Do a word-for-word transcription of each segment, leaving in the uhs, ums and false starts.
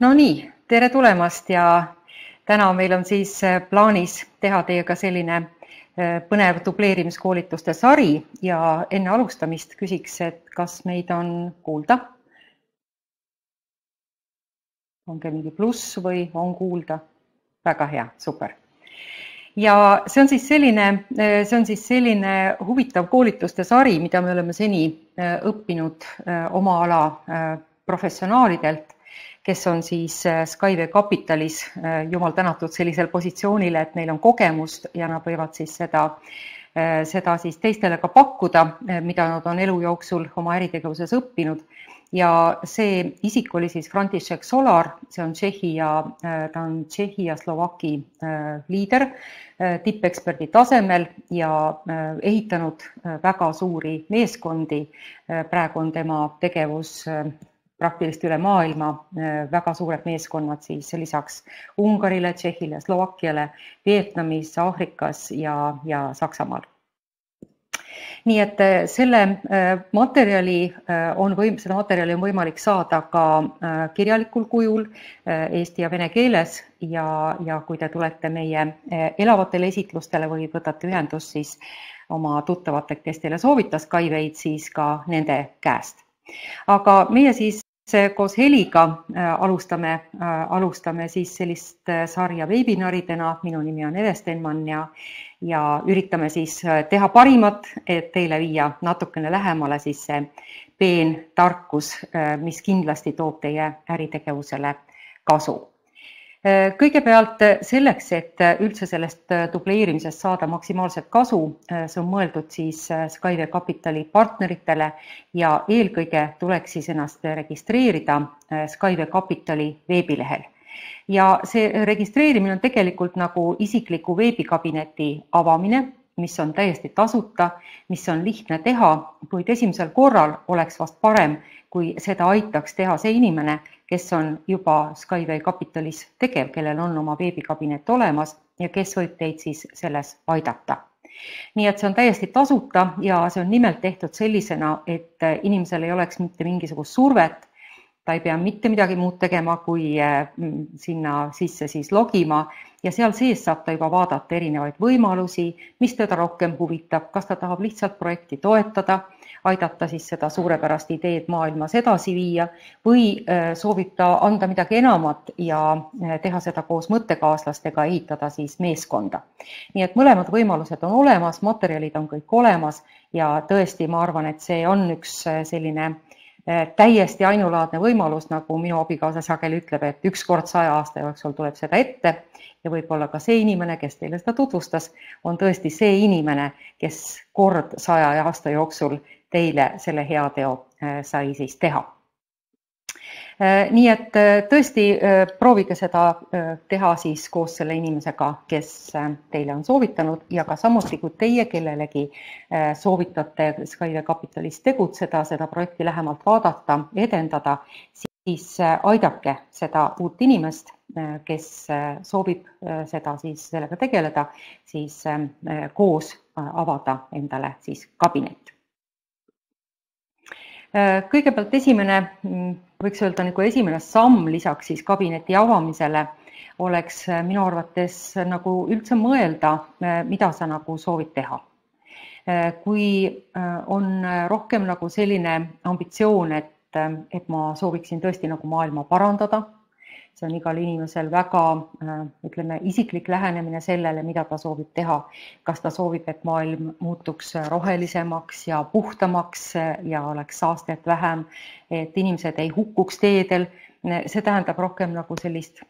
No nii, tere tulemast ja täna meil on siis plaanis teha teiega selline põnev dubleerimiskoolituste sari ja enne alustamist küsiks, et kas meid on kuulda? Onge mingi pluss või on kuulda? Väga hea, super. Ja see on siis selline, see on siis selline huvitav koolituste sari, mida me oleme seni õppinud oma ala professionaalidelt, kes on siis Skyway Capitalis jumal tänatud sellisel positsioonile, et neil on kogemust ja nad võivad siis seda, seda siis teistele ka pakkuda, mida nad on elu jooksul oma äritegevuses õppinud. Ja see isik oli siis František Solar, see on Tšehhi ja, ta on Tšehhi ja Slovaki liider tippeksperdi tasemel ja ehitanud väga suuri meeskondi. Praegu on tema tegevus praktiliselt üle maailma, väga suured meeskonnad siis lisaks Ungarile, Tšehhile, Slovakiale, Vietnamis, Aafrikas ja, ja Saksamaal. Nii et selle materjali on võim, seda materjali on võimalik saada ka kirjalikul kujul eesti ja vene keeles ja, ja kui te tulete meie elavatele esitlustele või võtate ühendust siis oma tuttavate, kes teile soovitas Skyway'd, siis ka nende käest. Aga meie siis koos Heliga alustame, alustame siis sellist sarja webinaridena, minu nimi on Ede Stenman ja, ja üritame siis teha parimat, et teile viia natukene lähemale siis see peen tarkus, mis kindlasti toob teie äritegevusele kasu. Kõigepealt selleks, et üldse sellest dubleerimisest saada maksimaalset kasu, see on mõeldud siis Skyway Capitali partneritele ja eelkõige tuleks siis ennast registreerida Skyway Capitali veebilehel. Ja see registreerimine on tegelikult nagu isikliku veebikabineti avamine, mis on täiesti tasuta, mis on lihtne teha, kuid esimesel korral oleks vast parem, kui seda aitaks teha see inimene, kes on juba Skyway Capitalis tegev, kellel on oma veebikabinet olemas ja kes võib teid siis selles aidata. Nii et see on täiesti tasuta ja see on nimelt tehtud sellisena, et inimesel ei oleks mitte mingisugust survet, ta ei pea mitte midagi muud tegema, kui sinna sisse siis logima ja seal sees saab ta juba vaadata erinevaid võimalusi, mis teda rohkem huvitab, kas ta tahab lihtsalt projekti toetada, aidata siis seda suurepärast ideed maailmas edasi viia või soovib ta anda midagi enamat ja teha seda koos mõttekaaslastega, ehitada siis meeskonda. Nii et mõlemad võimalused on olemas, materjalid on kõik olemas ja tõesti ma arvan, et see on üks selline täiesti ainulaadne võimalus, nagu minu abikaasa sageli ütleb, et üks kord saja aasta jooksul tuleb seda ette ja võib-olla ka see inimene, kes teile seda tutvustas, on tõesti see inimene, kes kord saja aasta jooksul teile selle heateo sai siis teha. Nii et tõesti proovige seda teha siis koos selle inimesega, kes teile on soovitanud ja ka samuti, kui teie kellelegi soovitate Skyway Capitalis tegutseda, seda projekti lähemalt vaadata, edendada, siis aidake seda uut inimest, kes soovib seda siis sellega tegeleda, siis koos avada endale siis kabinet. Kõigepealt esimene, võiks öelda nagu esimene samm lisaks siis kabineti avamisele oleks minu arvates nagu üldse mõelda, mida sa nagu soovid teha. Kui on rohkem nagu selline ambitsioon, et, et ma sooviksin tõesti nagu maailma parandada, see on igal inimesel väga, ütleme, isiklik lähenemine sellele, mida ta soovib teha. Kas ta soovib, et maailm muutuks rohelisemaks ja puhtamaks ja oleks saastet vähem, et inimesed ei hukkuks teedel. See tähendab rohkem nagu sellist,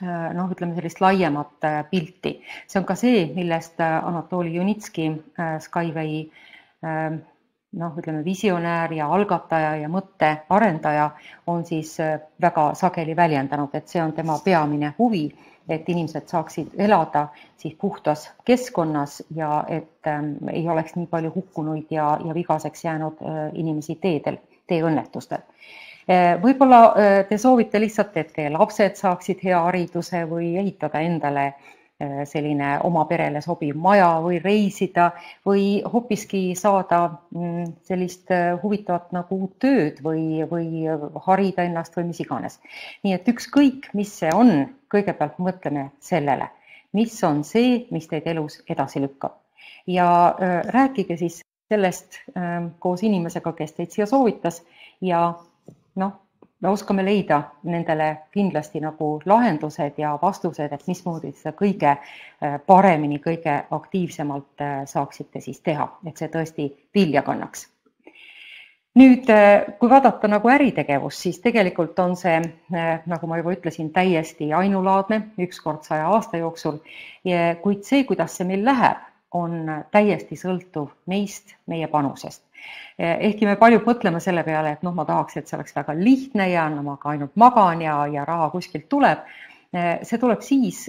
noh, ütleme sellist laiemat pilti. See on ka see, millest Anatoli Junitski, Skyway noh, ütleme, visionäär ja algataja ja mõtte arendaja on siis väga sageli väljendanud, et see on tema peamine huvi, et inimesed saaksid elada siis puhtas keskkonnas ja et ei oleks nii palju hukkunuid ja, ja vigaseks jäänud inimesi teedel, teeõnnetustel. Võib-olla te soovite lihtsalt, et teie lapsed saaksid hea hariduse või ehitada endale selline oma perele sobiv maja või reisida või hoopiski saada sellist huvitavat nagu tööd või, või harida ennast või mis iganes. Nii et ükskõik, mis see on, kõigepealt mõtleme sellele, mis on see, mis teid elus edasi lükkab. Ja rääkige siis sellest koos inimesega, kes teid siia soovitas ja noh, me oskame leida nendele kindlasti nagu lahendused ja vastused, et mismoodi seda kõige paremini, kõige aktiivsemalt saaksite siis teha, et see tõesti vilja kannaks. Nüüd, kui vaadata nagu äritegevus, siis tegelikult on see, nagu ma juba ütlesin, täiesti ainulaadne, üks kord saja aasta jooksul, kuid see, kuidas see meil läheb, on täiesti sõltuv meist, meie panusest. Ehkki me palju mõtleme selle peale, et noh, ma tahaks, et see oleks väga lihtne ja no, ma ka ainult magan ja, ja raha kuskilt tuleb. See tuleb siis,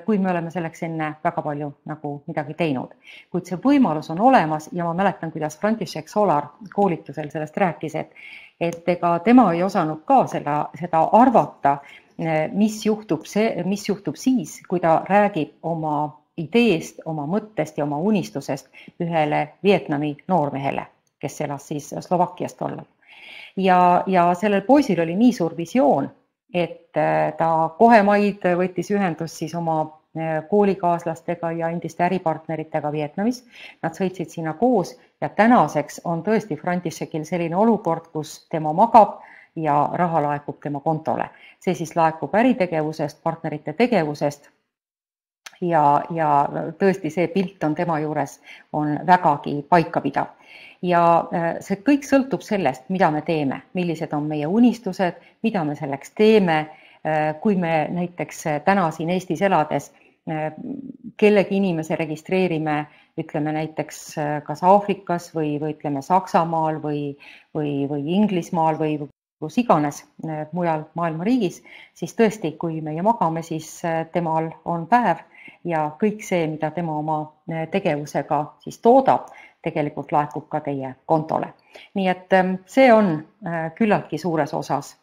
kui me oleme selleks enne väga palju nagu midagi teinud. Kuid see võimalus on olemas ja ma mäletan, kuidas František Solar koolitusel sellest rääkis, et, et ega tema ei osanud ka seda, seda arvata, mis juhtub, see, mis juhtub siis, kui ta räägib oma ideest, oma mõttest ja oma unistusest ühele Vietnami noormehele, kes elas siis Slovakkiast tollal. Ja, ja sellel poisil oli nii suur visioon, et ta kohe maid võttis ühendust siis oma koolikaaslastega ja endiste äripartneritega Vietnamis. Nad sõitsid sinna koos ja tänaseks on tõesti Františekil selline olukord, kus tema magab ja raha laekub tema kontole. See siis laekub äritegevusest, partnerite tegevusest ja, ja tõesti see pilt on tema juures on vägagi paikapidav. Ja see kõik sõltub sellest, mida me teeme, millised on meie unistused, mida me selleks teeme, kui me näiteks täna siin Eestis elades kellegi inimese registreerime, ütleme näiteks kas Aafrikas või, või ütleme Saksamaal või, või, või Inglismaal või kus iganes mujal maailma riigis, siis tõesti, kui meie magame, siis temal on päev ja kõik see, mida tema oma tegevusega siis toodab, tegelikult laekub ka teie kontole. Nii et see on küllaltki suures osas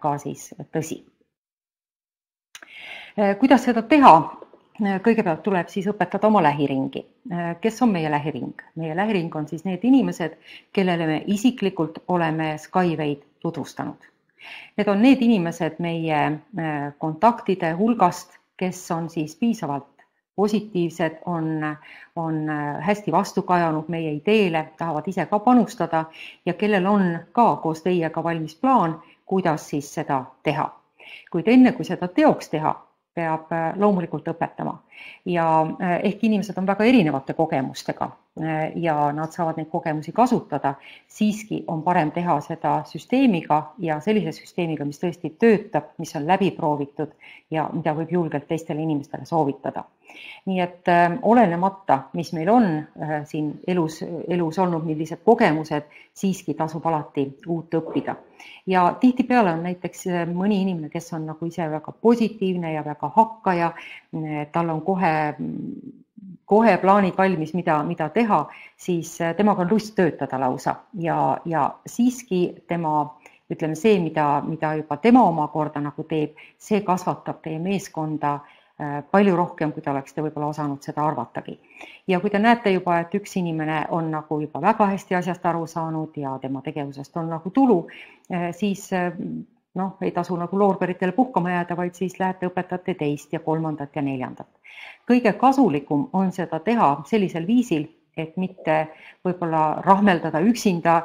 ka siis tõsi. Kuidas seda teha? Kõigepealt tuleb siis õpetada oma lähiringi. Kes on meie lähiring? Meie lähiring on siis need inimesed, kellele me isiklikult oleme Skywayd tutvustanud. Need on need inimesed meie kontaktide hulgast, kes on siis piisavalt positiivsed, on, on hästi vastu kajanud meie ideele, tahavad ise ka panustada ja kellel on ka koos teiega valmis plaan, kuidas siis seda teha. Kuid enne, kui seda teoks teha, peab loomulikult õpetama. Ja ehk inimesed on väga erinevate kogemustega ja nad saavad neid kogemusi kasutada, siiski on parem teha seda süsteemiga ja sellise süsteemiga, mis tõesti töötab, mis on läbi proovitud ja mida võib julgelt teistele inimestele soovitada. Nii et olenemata, mis meil on siin elus, elus olnud, millised kogemused, siiski tasub alati uut õppida. Ja tihtipeale on näiteks mõni inimene, kes on nagu ise väga positiivne ja väga hakkaja, tal on kohe, kohe plaanid valmis, mida, mida teha, siis temaga on lust töötada lausa ja, ja siiski tema, ütleme see, mida, mida juba tema omakorda nagu teeb, see kasvatab teie meeskonda palju rohkem, kui te oleksite võib-olla osanud seda arvatagi. Ja kui te näete juba, et üks inimene on nagu juba väga hästi asjast aru saanud ja tema tegevusest on nagu tulu, siis noh, ei tasu nagu loorberitele puhkama jääda, vaid siis lähete õpetate teist ja kolmandat ja neljandat. Kõige kasulikum on seda teha sellisel viisil, et mitte võib-olla rahmeldada üksinda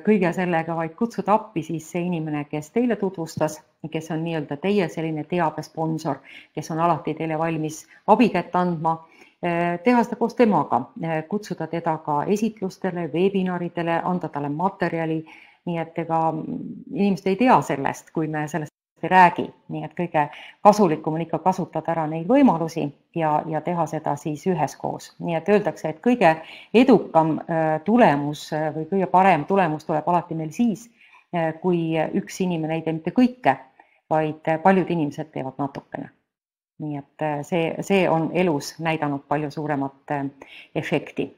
kõige sellega, vaid kutsuda appi siis see inimene, kes teile tutvustas, kes on nii-öelda teie selline teabesponsor, kes on alati teile valmis abikätt andma, teha seda koos temaga, kutsuda teda ka esitlustele, webinaridele, anda talle materjali, nii et ega inimesed ei tea sellest, kui me sellest ei räägi, nii et kõige kasulikum on ikka kasutada ära neid võimalusi ja, ja teha seda siis üheskoos. Nii et öeldakse, et kõige edukam tulemus või kõige parem tulemus tuleb alati meil siis, kui üks inimene ei tee mitte kõike, vaid paljud inimesed teevad natukene. Nii et see, see on elus näidanud palju suuremat efekti.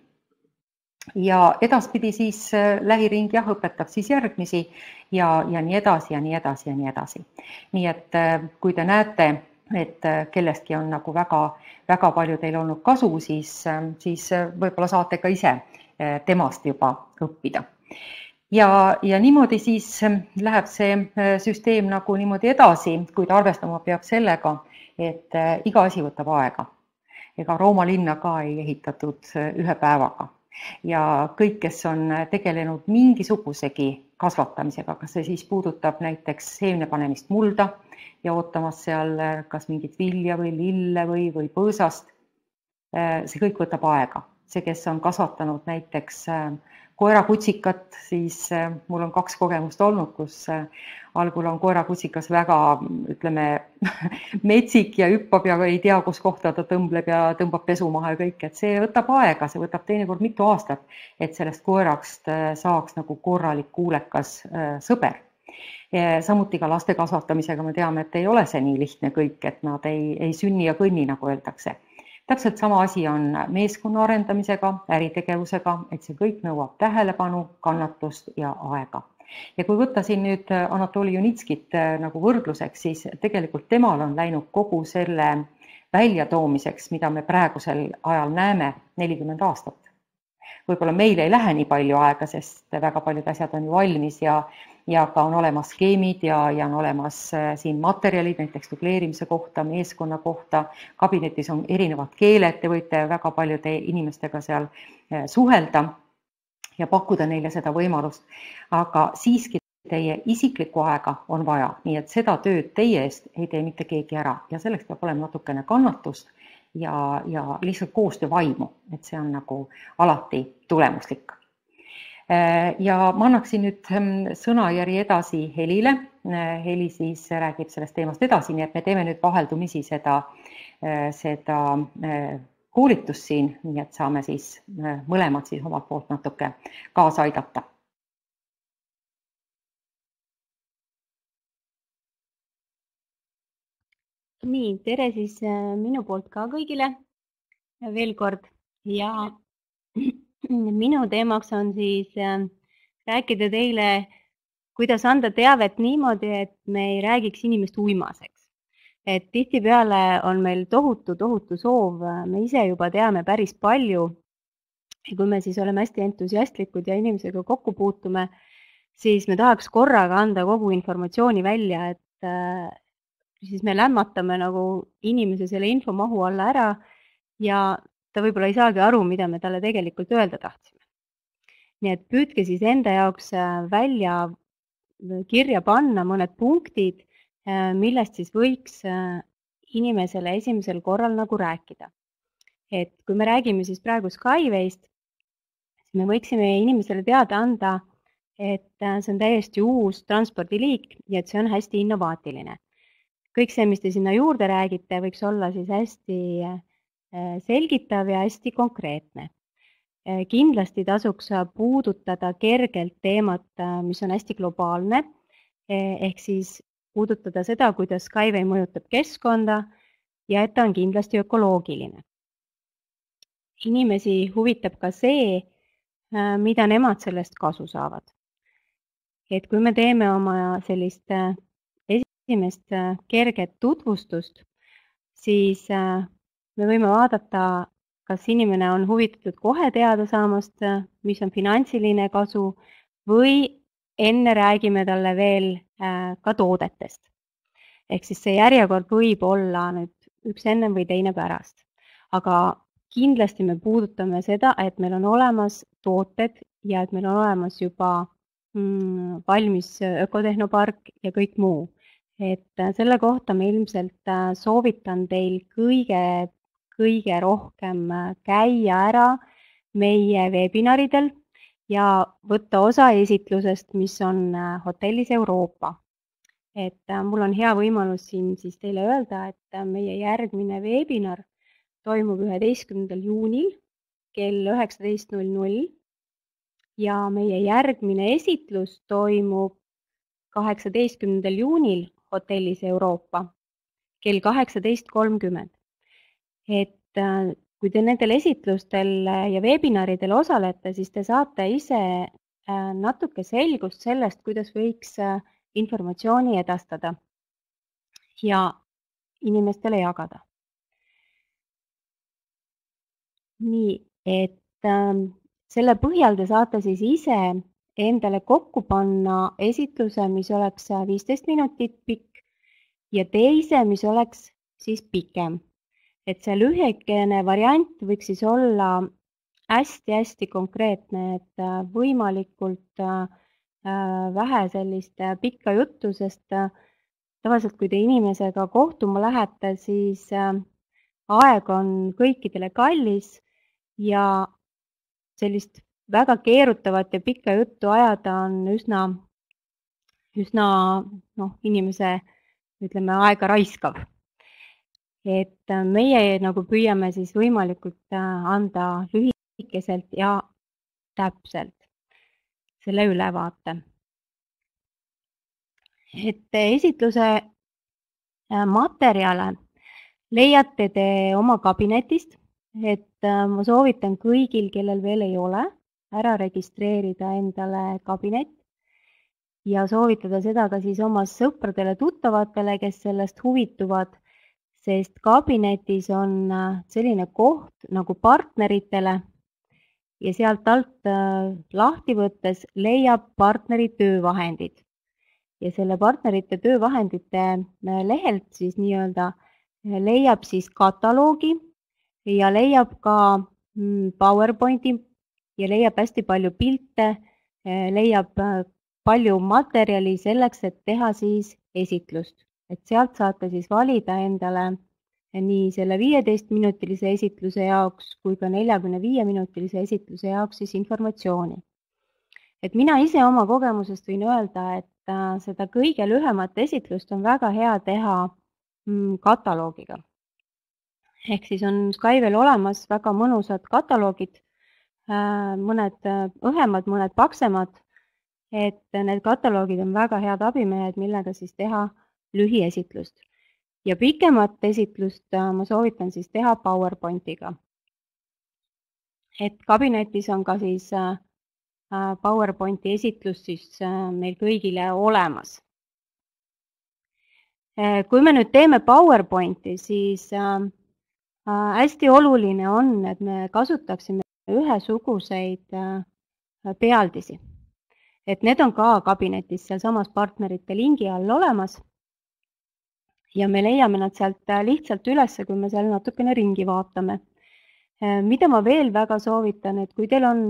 Ja edaspidi siis lähiring jah, õpetab siis järgmisi ja, ja nii edasi ja nii edasi ja nii edasi. Nii et kui te näete et kellestki on nagu väga, väga palju teil olnud kasu, siis, siis võib-olla saate ka ise temast juba õppida. Ja, ja niimoodi siis läheb see süsteem nagu niimoodi edasi, kuid arvestama peab sellega, et iga asi võtab aega. Ega Rooma linna ka ei ehitatud ühe päevaga. Ja kõik, kes on tegelenud mingisugusegi kasvatamisega, kas see siis puudutab näiteks seemne panemist mulda ja ootamas seal kas mingit vilja või lille või, või põõsast, see kõik võtab aega. See, kes on kasvatanud näiteks koerakutsikat, siis mul on kaks kogemust olnud, kus algul on koerakutsikas väga, ütleme, metsik ja hüppab ja ei tea, kus kohta ta tõmbleb ja tõmbab pesu maha ja kõik, et see võtab aega, see võtab teinekord mitu aastat, et sellest koerakst saaks nagu korralik kuulekas sõber. Samuti ka laste kasvatamisega me teame, et ei ole see nii lihtne kõik, et nad ei, ei sünni ja kõnni, nagu öeldakse. Täpselt sama asi on meeskonna arendamisega, äritegevusega, et see kõik nõuab tähelepanu, kannatust ja aega. Ja kui võtta siin nüüd Anatoli Junitskit nagu võrdluseks, siis tegelikult temal on läinud kogu selle väljatoomiseks, mida me praegusel ajal näeme, nelikümmend aastat. Võib-olla meil ei lähe nii palju aega, sest väga paljud asjad on ju valmis ja, ja ka on olemas skeemid ja, ja on olemas siin materjalid, näiteks dubleerimise kohta, meeskonna kohta, kabinetis on erinevad keeled, te võite väga paljude inimestega seal suhelda ja pakkuda neile seda võimalust, aga siiski teie isiklikku aega on vaja, nii et seda tööd teie eest ei tee mitte keegi ära ja selleks peab olema natukene kannatust ja, ja lihtsalt koostöövaimu, et see on nagu alati tulemuslik. Ja ma annaksin nüüd sõnajärje edasi Helile. Heli siis räägib sellest teemast edasi, nii et me teeme nüüd vaheldumisi seda, seda koolitust siin, nii et saame siis mõlemad siis omalt poolt natuke kaasa aidata. Nii, tere siis minu poolt ka kõigile veel kord ja minu teemaks on siis rääkida teile, kuidas anda teavet niimoodi, et me ei räägiks inimest uimaseks. Et tihtipeale on meil tohutu, tohutu soov, me ise juba teame päris palju ja kui me siis oleme hästi entusiastlikud ja inimesega kokku puutume, siis me tahaks korraga anda kogu informatsiooni välja, et siis me lämmatame nagu inimese selle infomahu alla ära ja ta võib-olla ei saagi aru, mida me talle tegelikult öelda tahtsime. Nii et püüdke siis enda jaoks välja kirja panna mõned punktid, millest siis võiks inimesele esimesel korral nagu rääkida. Et kui me räägime siis praegu Skywayst, siis me võiksime inimesele teada anda, et see on täiesti uus transpordiliik ja et see on hästi innovaatiline. Kõik see, mis te sinna juurde räägite, võiks olla siis hästi selgitav ja hästi konkreetne. Kindlasti tasuks puudutada kergelt teemat, mis on hästi globaalne, ehk siis puudutada seda, kuidas Skyway mõjutab keskkonda ja et ta on kindlasti ökoloogiline. Inimesi huvitab ka see, mida nemad sellest kasu saavad. Et kui me teeme oma sellist esimest kerget tutvustust, siis me võime vaadata, kas inimene on huvitatud kohe teada saamast, mis on finantsiline kasu või enne räägime talle veel ka toodetest. Ehk siis see järjekord võib olla nüüd üks enne või teine pärast. Aga kindlasti me puudutame seda, et meil on olemas tooted ja et meil on olemas juba mm, valmis ökotehnopark ja kõik muu. Et selle kohta ma ilmselt soovitan teil kõige, kõige rohkem käia ära meie webinaridel ja võtta osa esitlusest, mis on hotellis Euroopa. Et mul on hea võimalus siin siis teile öelda, et meie järgmine webinar toimub üheteistkümnendal juunil kell üheksateist null null ja meie järgmine esitlus toimub kaheksateistkümnendal juunil hotellis Euroopa kell kaheksateist kolmkümmend. Et kui te nendel esitlustel ja webinaridel osalete, siis te saate ise natuke selgust sellest, kuidas võiks informatsiooni edastada. Ja inimestele jagada. Nii, et ähm, selle põhjal te saate siis ise endale kokku panna esitluse, mis oleks viisteist minutit pikk ja teise, mis oleks siis pikem. Et see lühikene variant võiks siis olla hästi-hästi konkreetne, et võimalikult vähe sellist pikka juttu, sest tavaliselt, kui te inimesega kohtuma lähete, siis aeg on kõikidele kallis ja sellist väga keerutavat ja pikka juttu ajada on üsna, üsna noh, inimese, ütleme, aega raiskav. Et meie nagu püüame siis võimalikult anda lühikeselt ja täpselt selle ülevaate. Et esitluse materjale leiate te oma kabinetist, et ma soovitan kõigil, kellel veel ei ole, ära registreerida endale kabinet ja soovitada seda ka siis oma sõpradele, tuttavatele, kes sellest huvituvad, sest kabinetis on selline koht nagu partneritele ja sealt alt lahti võttes leiab partneri töövahendid. Ja selle partnerite töövahendite lehelt siis nii-öelda leiab siis kataloogi ja leiab ka PowerPointi ja leiab hästi palju pilte, leiab palju materjali selleks, et teha siis esitlust. Et sealt saate siis valida endale nii selle viieteistminutilise esitluse jaoks kui ka neljakümne viie minutilise esitluse jaoks siis informatsiooni. Et mina ise oma kogemusest võin öelda, et seda kõige lühemat esitlust on väga hea teha kataloogiga. Ehk siis on Skyvel olemas väga mõnusad kataloogid, mõned õhemad, mõned paksemad, et need kataloogid on väga head abimehed, millega siis teha lühiesitlust. Ja pikemat esitlust ma soovitan siis teha PowerPointiga. Et kabinetis on ka siis PowerPointi esitlus siis meil kõigile olemas. Kui me nüüd teeme PowerPointi, siis hästi oluline on, et me kasutaksime ühesuguseid pealdisi. Et need on ka kabinetis seal samas partnerite lingi all olemas ja me leiame nad sealt lihtsalt üles, kui me seal natukene ringi vaatame. Mida ma veel väga soovitan, et kui teil on,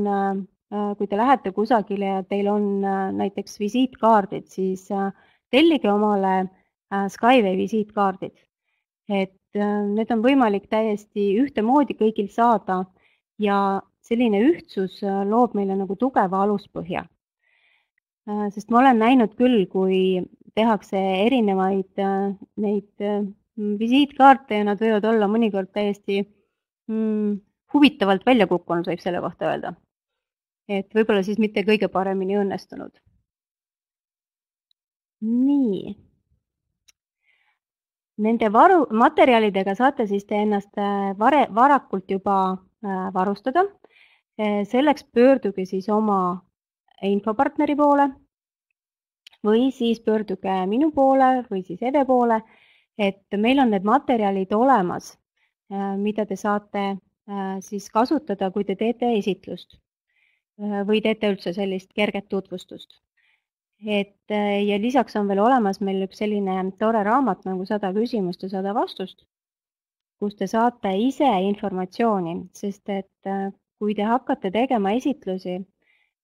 kui te lähete kusagile ja teil on näiteks visiitkaardid, siis tellige omale Skyway visiitkaardid. Et need on võimalik täiesti ühtemoodi kõigil saada ja selline ühtsus loob meile nagu tugeva aluspõhja. Sest ma olen näinud küll, kui tehakse erinevaid neid visiitkaarte ja nad võivad olla mõnikord täiesti mm, huvitavalt välja kukkunud, võib selle kohta öelda. Et võib-olla siis mitte kõige paremini õnnestunud. Nii. Nende varu, materjalidega saate siis te ennast vare, varakult juba varustada. Selleks pöörduge siis oma infopartneri poole või siis pöörduge minu poole või siis Eve poole, et meil on need materjalid olemas, mida te saate siis kasutada, kui te teete esitlust või teete üldse sellist kerget tutvustust. Et, ja lisaks on veel olemas meil üks selline tore raamat nagu sada küsimust ja sada vastust, kus te saate ise informatsiooni, sest et kui te hakkate tegema esitlusi,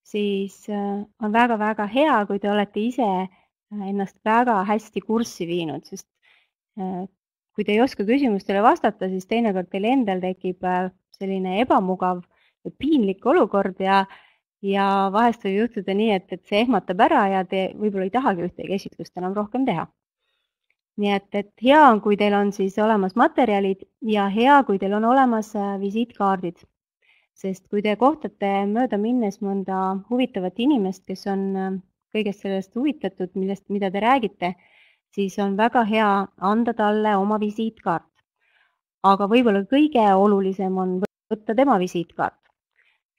siis on väga-väga hea, kui te olete ise ennast väga hästi kurssi viinud, sest kui te ei oska küsimustele vastata, siis teinekord teil endal tekib selline ebamugav ja piinlik olukord ja, ja vahest võib juhtuda nii, et, et see ehmatab ära ja te võib-olla ei tahagi ühtegi esitlust enam rohkem teha. Nii et, et hea on, kui teil on siis olemas materjalid ja hea, kui teil on olemas visiitkaardid. Sest kui te kohtate mööda minnes mõnda huvitavat inimest, kes on kõigest sellest huvitatud, millest, mida te räägite, siis on väga hea anda talle oma visiitkaart. Aga võib-olla kõige olulisem on võtta tema visiitkaart.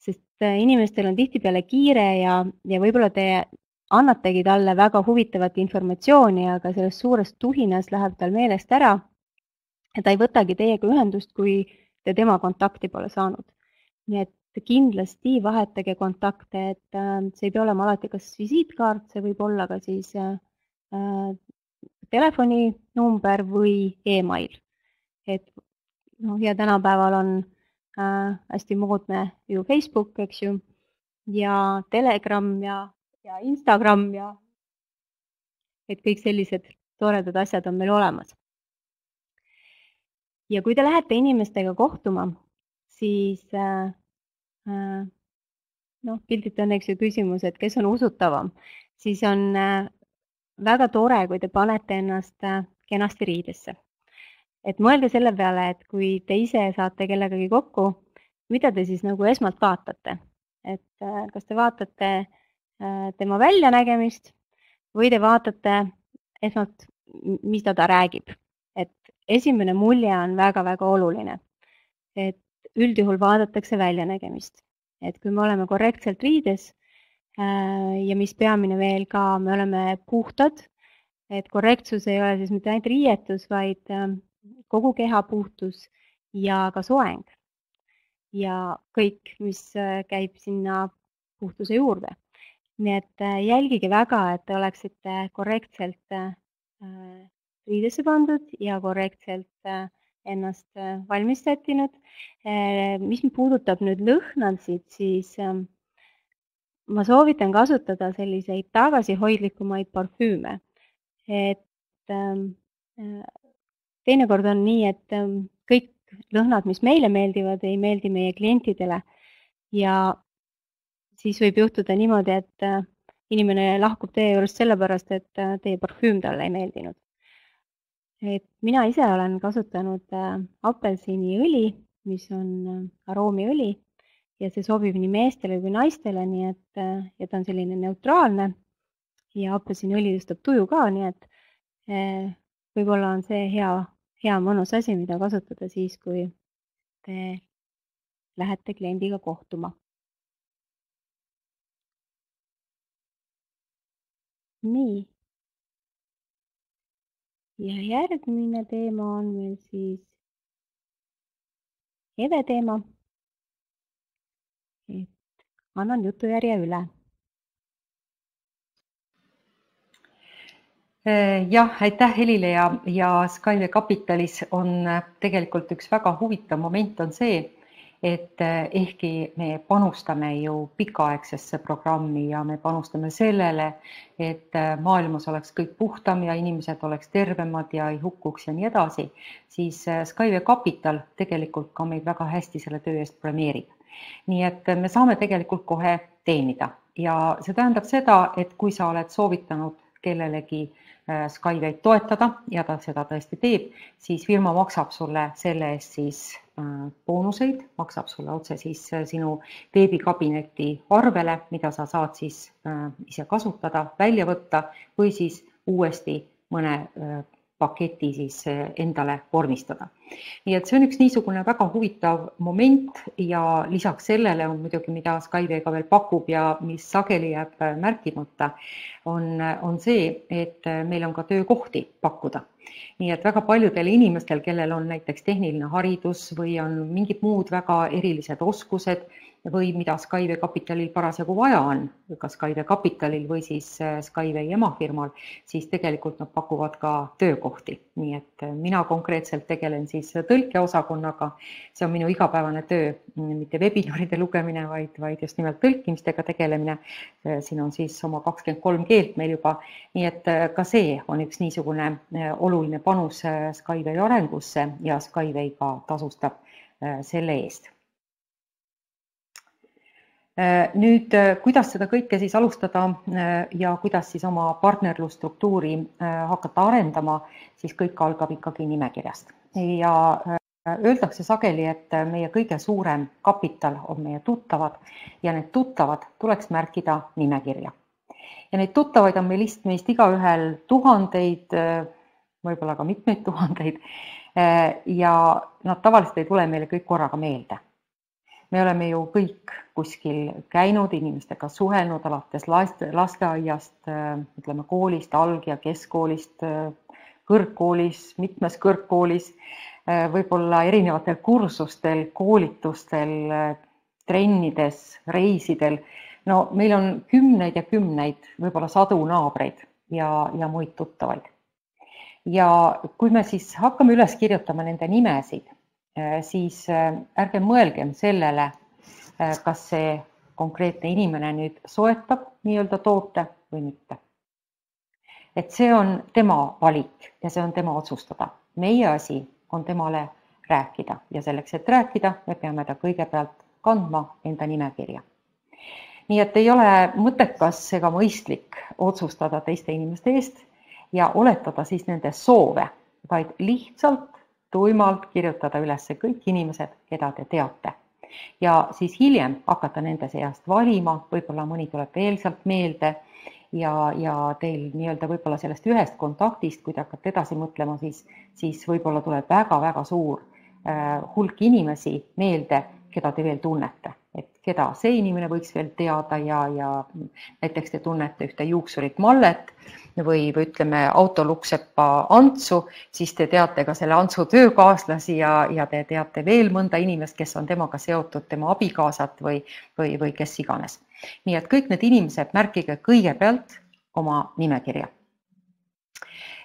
Sest inimestel on tihtipeale kiire ja, ja võib-olla te annategi talle väga huvitavat informatsiooni, aga sellest suurest tuhinas läheb tal meelest ära ta ei võtagi teiega ühendust, kui te tema kontakti pole saanud. Nii et kindlasti vahetage kontakte, et see ei pea olema alati kas visiitkaart, see võib olla ka siis äh, telefoninumber või e-mail. Et, no, ja tänapäeval on äh, hästi moodne ju Facebook, eks ju, ja Telegram ja, ja Instagram ja et kõik sellised toredad asjad on meil olemas. Ja kui te lähete inimestega kohtuma, siis äh, äh, noh, pildilt on eks ju küsimus, et kes on usutavam, siis on äh, väga tore, kui te panete ennast äh, kenasti riidesse. Et mõelge selle peale, et kui te ise saate kellegagi kokku, mida te siis nagu esmalt vaatate. Et äh, kas te vaatate äh, tema väljanägemist või te vaatate esmalt, mida ta räägib. Et esimene mulje on väga-väga oluline. Et üldjuhul vaadatakse väljanägemist. Et kui me oleme korrektselt riides äh, ja mis peamine veel ka, me oleme puhtad, et korrektsus ei ole siis mitte ainult riietus, vaid äh, kogu keha puhtus ja ka soeng. Ja kõik, mis äh, käib sinna puhtuse juurde. Nii et äh, jälgige väga, et te oleksite korrektselt äh, riidesse pandud ja korrektselt äh, ennast äh, valmis sättinud. Äh, mis puudutab nüüd lõhnasid, siis äh, ma soovitan kasutada selliseid tagasihoidlikumaid parfüüme. Et äh, teinekord on nii, et äh, kõik lõhnad, mis meile meeldivad, ei meeldi meie klientidele. Ja siis võib juhtuda niimoodi, et äh, inimene lahkub teie juurest sellepärast, et äh, teie parfüüm talle ei meeldinud. Et mina ise olen kasutanud äh, apelsiniõli, mis on äh, aroomiõli ja see sobib nii meestele kui naistele, nii et äh, ja ta on selline neutraalne ja apelsiniõli tõstab tuju ka, nii et äh, võib-olla on see hea, hea mõnus asi, mida kasutada siis, kui te lähete kliendiga kohtuma. Nii. Ja järgmine teema on meil siis Eve teema. Et annan jutujärje üle. Jah, aitäh Helile ja, ja Skyway Capitalis on tegelikult üks väga huvitav moment on see, et ehkki me panustame ju pikaaegsesse programmi ja me panustame sellele, et maailmas oleks kõik puhtam ja inimesed oleks tervemad ja ei hukkuks ja nii edasi, siis Skyway Capital tegelikult ka meid väga hästi selle töö eest premeerib. Nii et me saame tegelikult kohe teenida ja see tähendab seda, et kui sa oled soovitanud kellelegi Skywayt toetada ja ta seda tõesti teeb, siis firma maksab sulle selle eest siis boonuseid, maksab sulle otse siis sinu veebikabineti arvele, mida sa saad siis ise kasutada, välja võtta või siis uuesti mõne paketi siis endale vormistada. Nii et see on üks niisugune väga huvitav moment ja lisaks sellele on muidugi, mida Skyway ka veel pakub ja mis sageli jääb märkimata, on, on see, et meil on ka töökohti pakkuda. Nii et väga paljudel inimestel, kellel on näiteks tehniline haridus või on mingid muud väga erilised oskused või mida Skyway Capitalil parasjagu vaja on, ka Skyway Capitalil või siis Skyway emafirmal, siis tegelikult nad pakuvad ka töökohti. Nii et mina konkreetselt tegelen siis tõlkeosakonnaga. See on minu igapäevane töö, mitte webinaride lugemine, vaid, vaid just nimelt tõlkimistega tegelemine. Siin on siis oma kakskümmend kolm keelt meil juba. Nii et ka see on üks niisugune oluline panus Skyway arengusse ja Skyway ka tasustab selle eest. Nüüd, kuidas seda kõike siis alustada ja kuidas siis oma partnerlusstruktuuri hakata arendama, siis kõik algab ikkagi nimekirjast. Ja öeldakse sageli, et meie kõige suurem kapital on meie tuttavad ja need tuttavad tuleks märkida nimekirja. Ja neid tuttavaid on meil meist igaühel tuhandeid, võib-olla ka mitmeid tuhandeid ja nad tavaliselt ei tule meile kõik korraga meelde. Me oleme ju kõik kuskil käinud, inimestega suhelnud alates lasteaiast, ütleme koolist, alg- ja keskkoolist, kõrgkoolis, mitmes kõrgkoolis võib-olla erinevatel kursustel, koolitustel, trennides, reisidel. No meil on kümneid ja kümneid, võib-olla sadu naabreid ja, ja muid tuttavaid. Ja kui me siis hakkame üles kirjutama nende nimesid, siis ärge mõelgem sellele, kas see konkreetne inimene nüüd soetab nii-öelda toote või mitte. Et see on tema valik ja see on tema otsustada. Meie asi on temale rääkida ja selleks, et rääkida, me peame ta kõigepealt kandma enda nimekirja. Nii et ei ole mõttekas ega mõistlik otsustada teiste inimeste eest ja oletada siis nende soove, vaid lihtsalt tuimalt kirjutada üles kõik inimesed, keda te teate. Ja siis hiljem hakata nende seast valima, võib-olla mõni tuleb veel sealt meelde ja, ja teil nii-öelda võib-olla sellest ühest kontaktist, kui te hakkate edasi mõtlema, siis, siis võib-olla tuleb väga-väga suur äh, hulk inimesi meelde, keda te veel tunnete. Et keda see inimene võiks veel teada ja, ja näiteks te tunnete ühte juuksurit Mallet või, või ütleme autoluksepa Antsu, siis te teate ka selle Antsu töökaaslasi ja, ja te teate veel mõnda inimest, kes on temaga seotud, tema abikaasat või, või, või kes iganes. Nii et kõik need inimesed märkige kõigepealt oma nimekirja.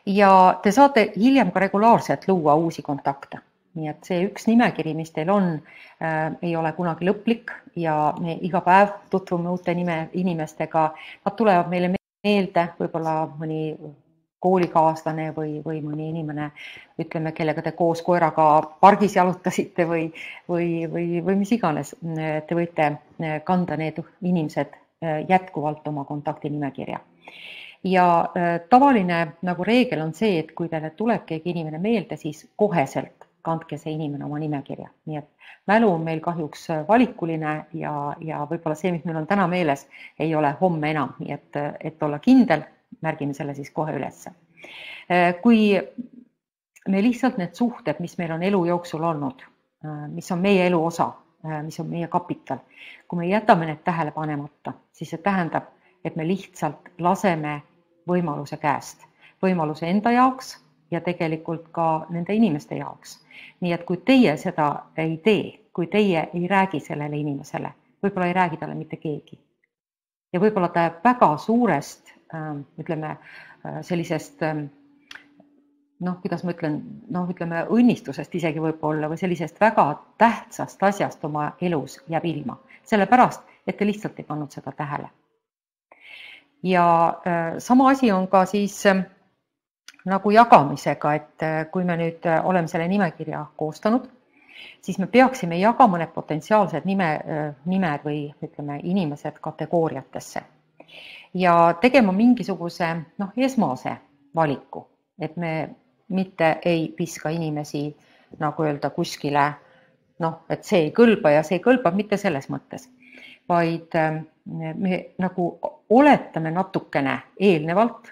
Ja te saate hiljem ka regulaarselt luua uusi kontakte. Nii et see üks nimekiri, mis teil on, äh, ei ole kunagi lõplik ja me iga päev tutvume uute nime, inimestega. Nad tulevad meile meelde, võib-olla mõni koolikaaslane või, või mõni inimene, ütleme, kellega te koos koeraga pargis jalutasite või, või, või, või mis iganes. Te võite kanda need inimesed jätkuvalt oma kontaktinimekirja. Ja äh, tavaline nagu reegel on see, et kui teile tuleb keegi inimene meelde, siis koheselt kandke see inimene oma nimekirja. Nii et mälu on meil kahjuks valikuline ja, ja võib-olla see, mis meil on täna meeles, ei ole homme enam. Nii et, et olla kindel, märgime selle siis kohe ülesse. Kui me lihtsalt need suhted, mis meil on elu jooksul olnud, mis on meie elu osa, mis on meie kapital, kui me jätame need tähele panemata, siis see tähendab, et me lihtsalt laseme võimaluse käest, võimaluse enda jaoks ja tegelikult ka nende inimeste jaoks. Nii et kui teie seda ei tee, kui teie ei räägi sellele inimesele, võib-olla ei räägi talle mitte keegi. Ja võib-olla ta väga suurest, ütleme, sellisest, noh, kuidas ma ütlen, noh, ütleme, õnnistusest isegi võib-olla või sellisest väga tähtsast asjast oma elus jääb ilma. Sellepärast, et te lihtsalt ei pannud seda tähele. Ja sama asi on ka siis nagu jagamisega, et kui me nüüd oleme selle nimekirja koostanud, siis me peaksime jagama need potentsiaalsed nime, nimed või ütleme inimesed kategooriatesse ja tegema mingisuguse noh, esmase valiku, et me mitte ei viska inimesi nagu öelda kuskile, noh, et see ei kõlba ja see ei kõlba mitte selles mõttes, vaid me nagu oletame natukene eelnevalt,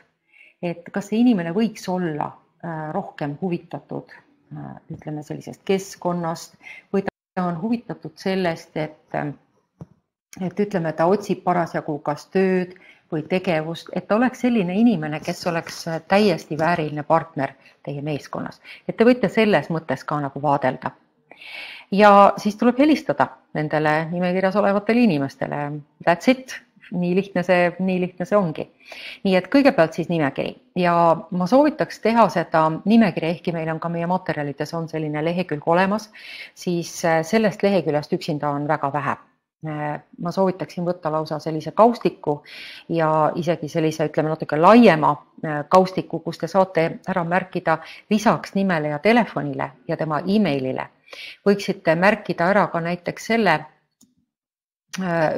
et kas see inimene võiks olla rohkem huvitatud, ütleme sellisest keskkonnast või ta on huvitatud sellest, et, et ütleme, ta otsib parasjagu kas tööd või tegevust, et ta oleks selline inimene, kes oleks täiesti vääriline partner teie meeskonnas. Et te võite selles mõttes ka nagu vaadelda. Ja siis tuleb helistada nendele nimekirjas olevatele inimestele. That's it. Nii lihtne see, nii lihtne see ongi. Nii et kõigepealt siis nimekiri ja ma soovitaks teha seda nimekiri, ehkki meil on ka meie materjalides on selline lehekülg olemas, siis sellest leheküljest üksinda on väga vähe. Ma soovitaksin võtta lausa sellise kaustiku ja isegi sellise, ütleme natuke laiema kaustiku, kus te saate ära märkida lisaks nimele ja telefonile ja tema emailile. Võiksite märkida ära ka näiteks selle,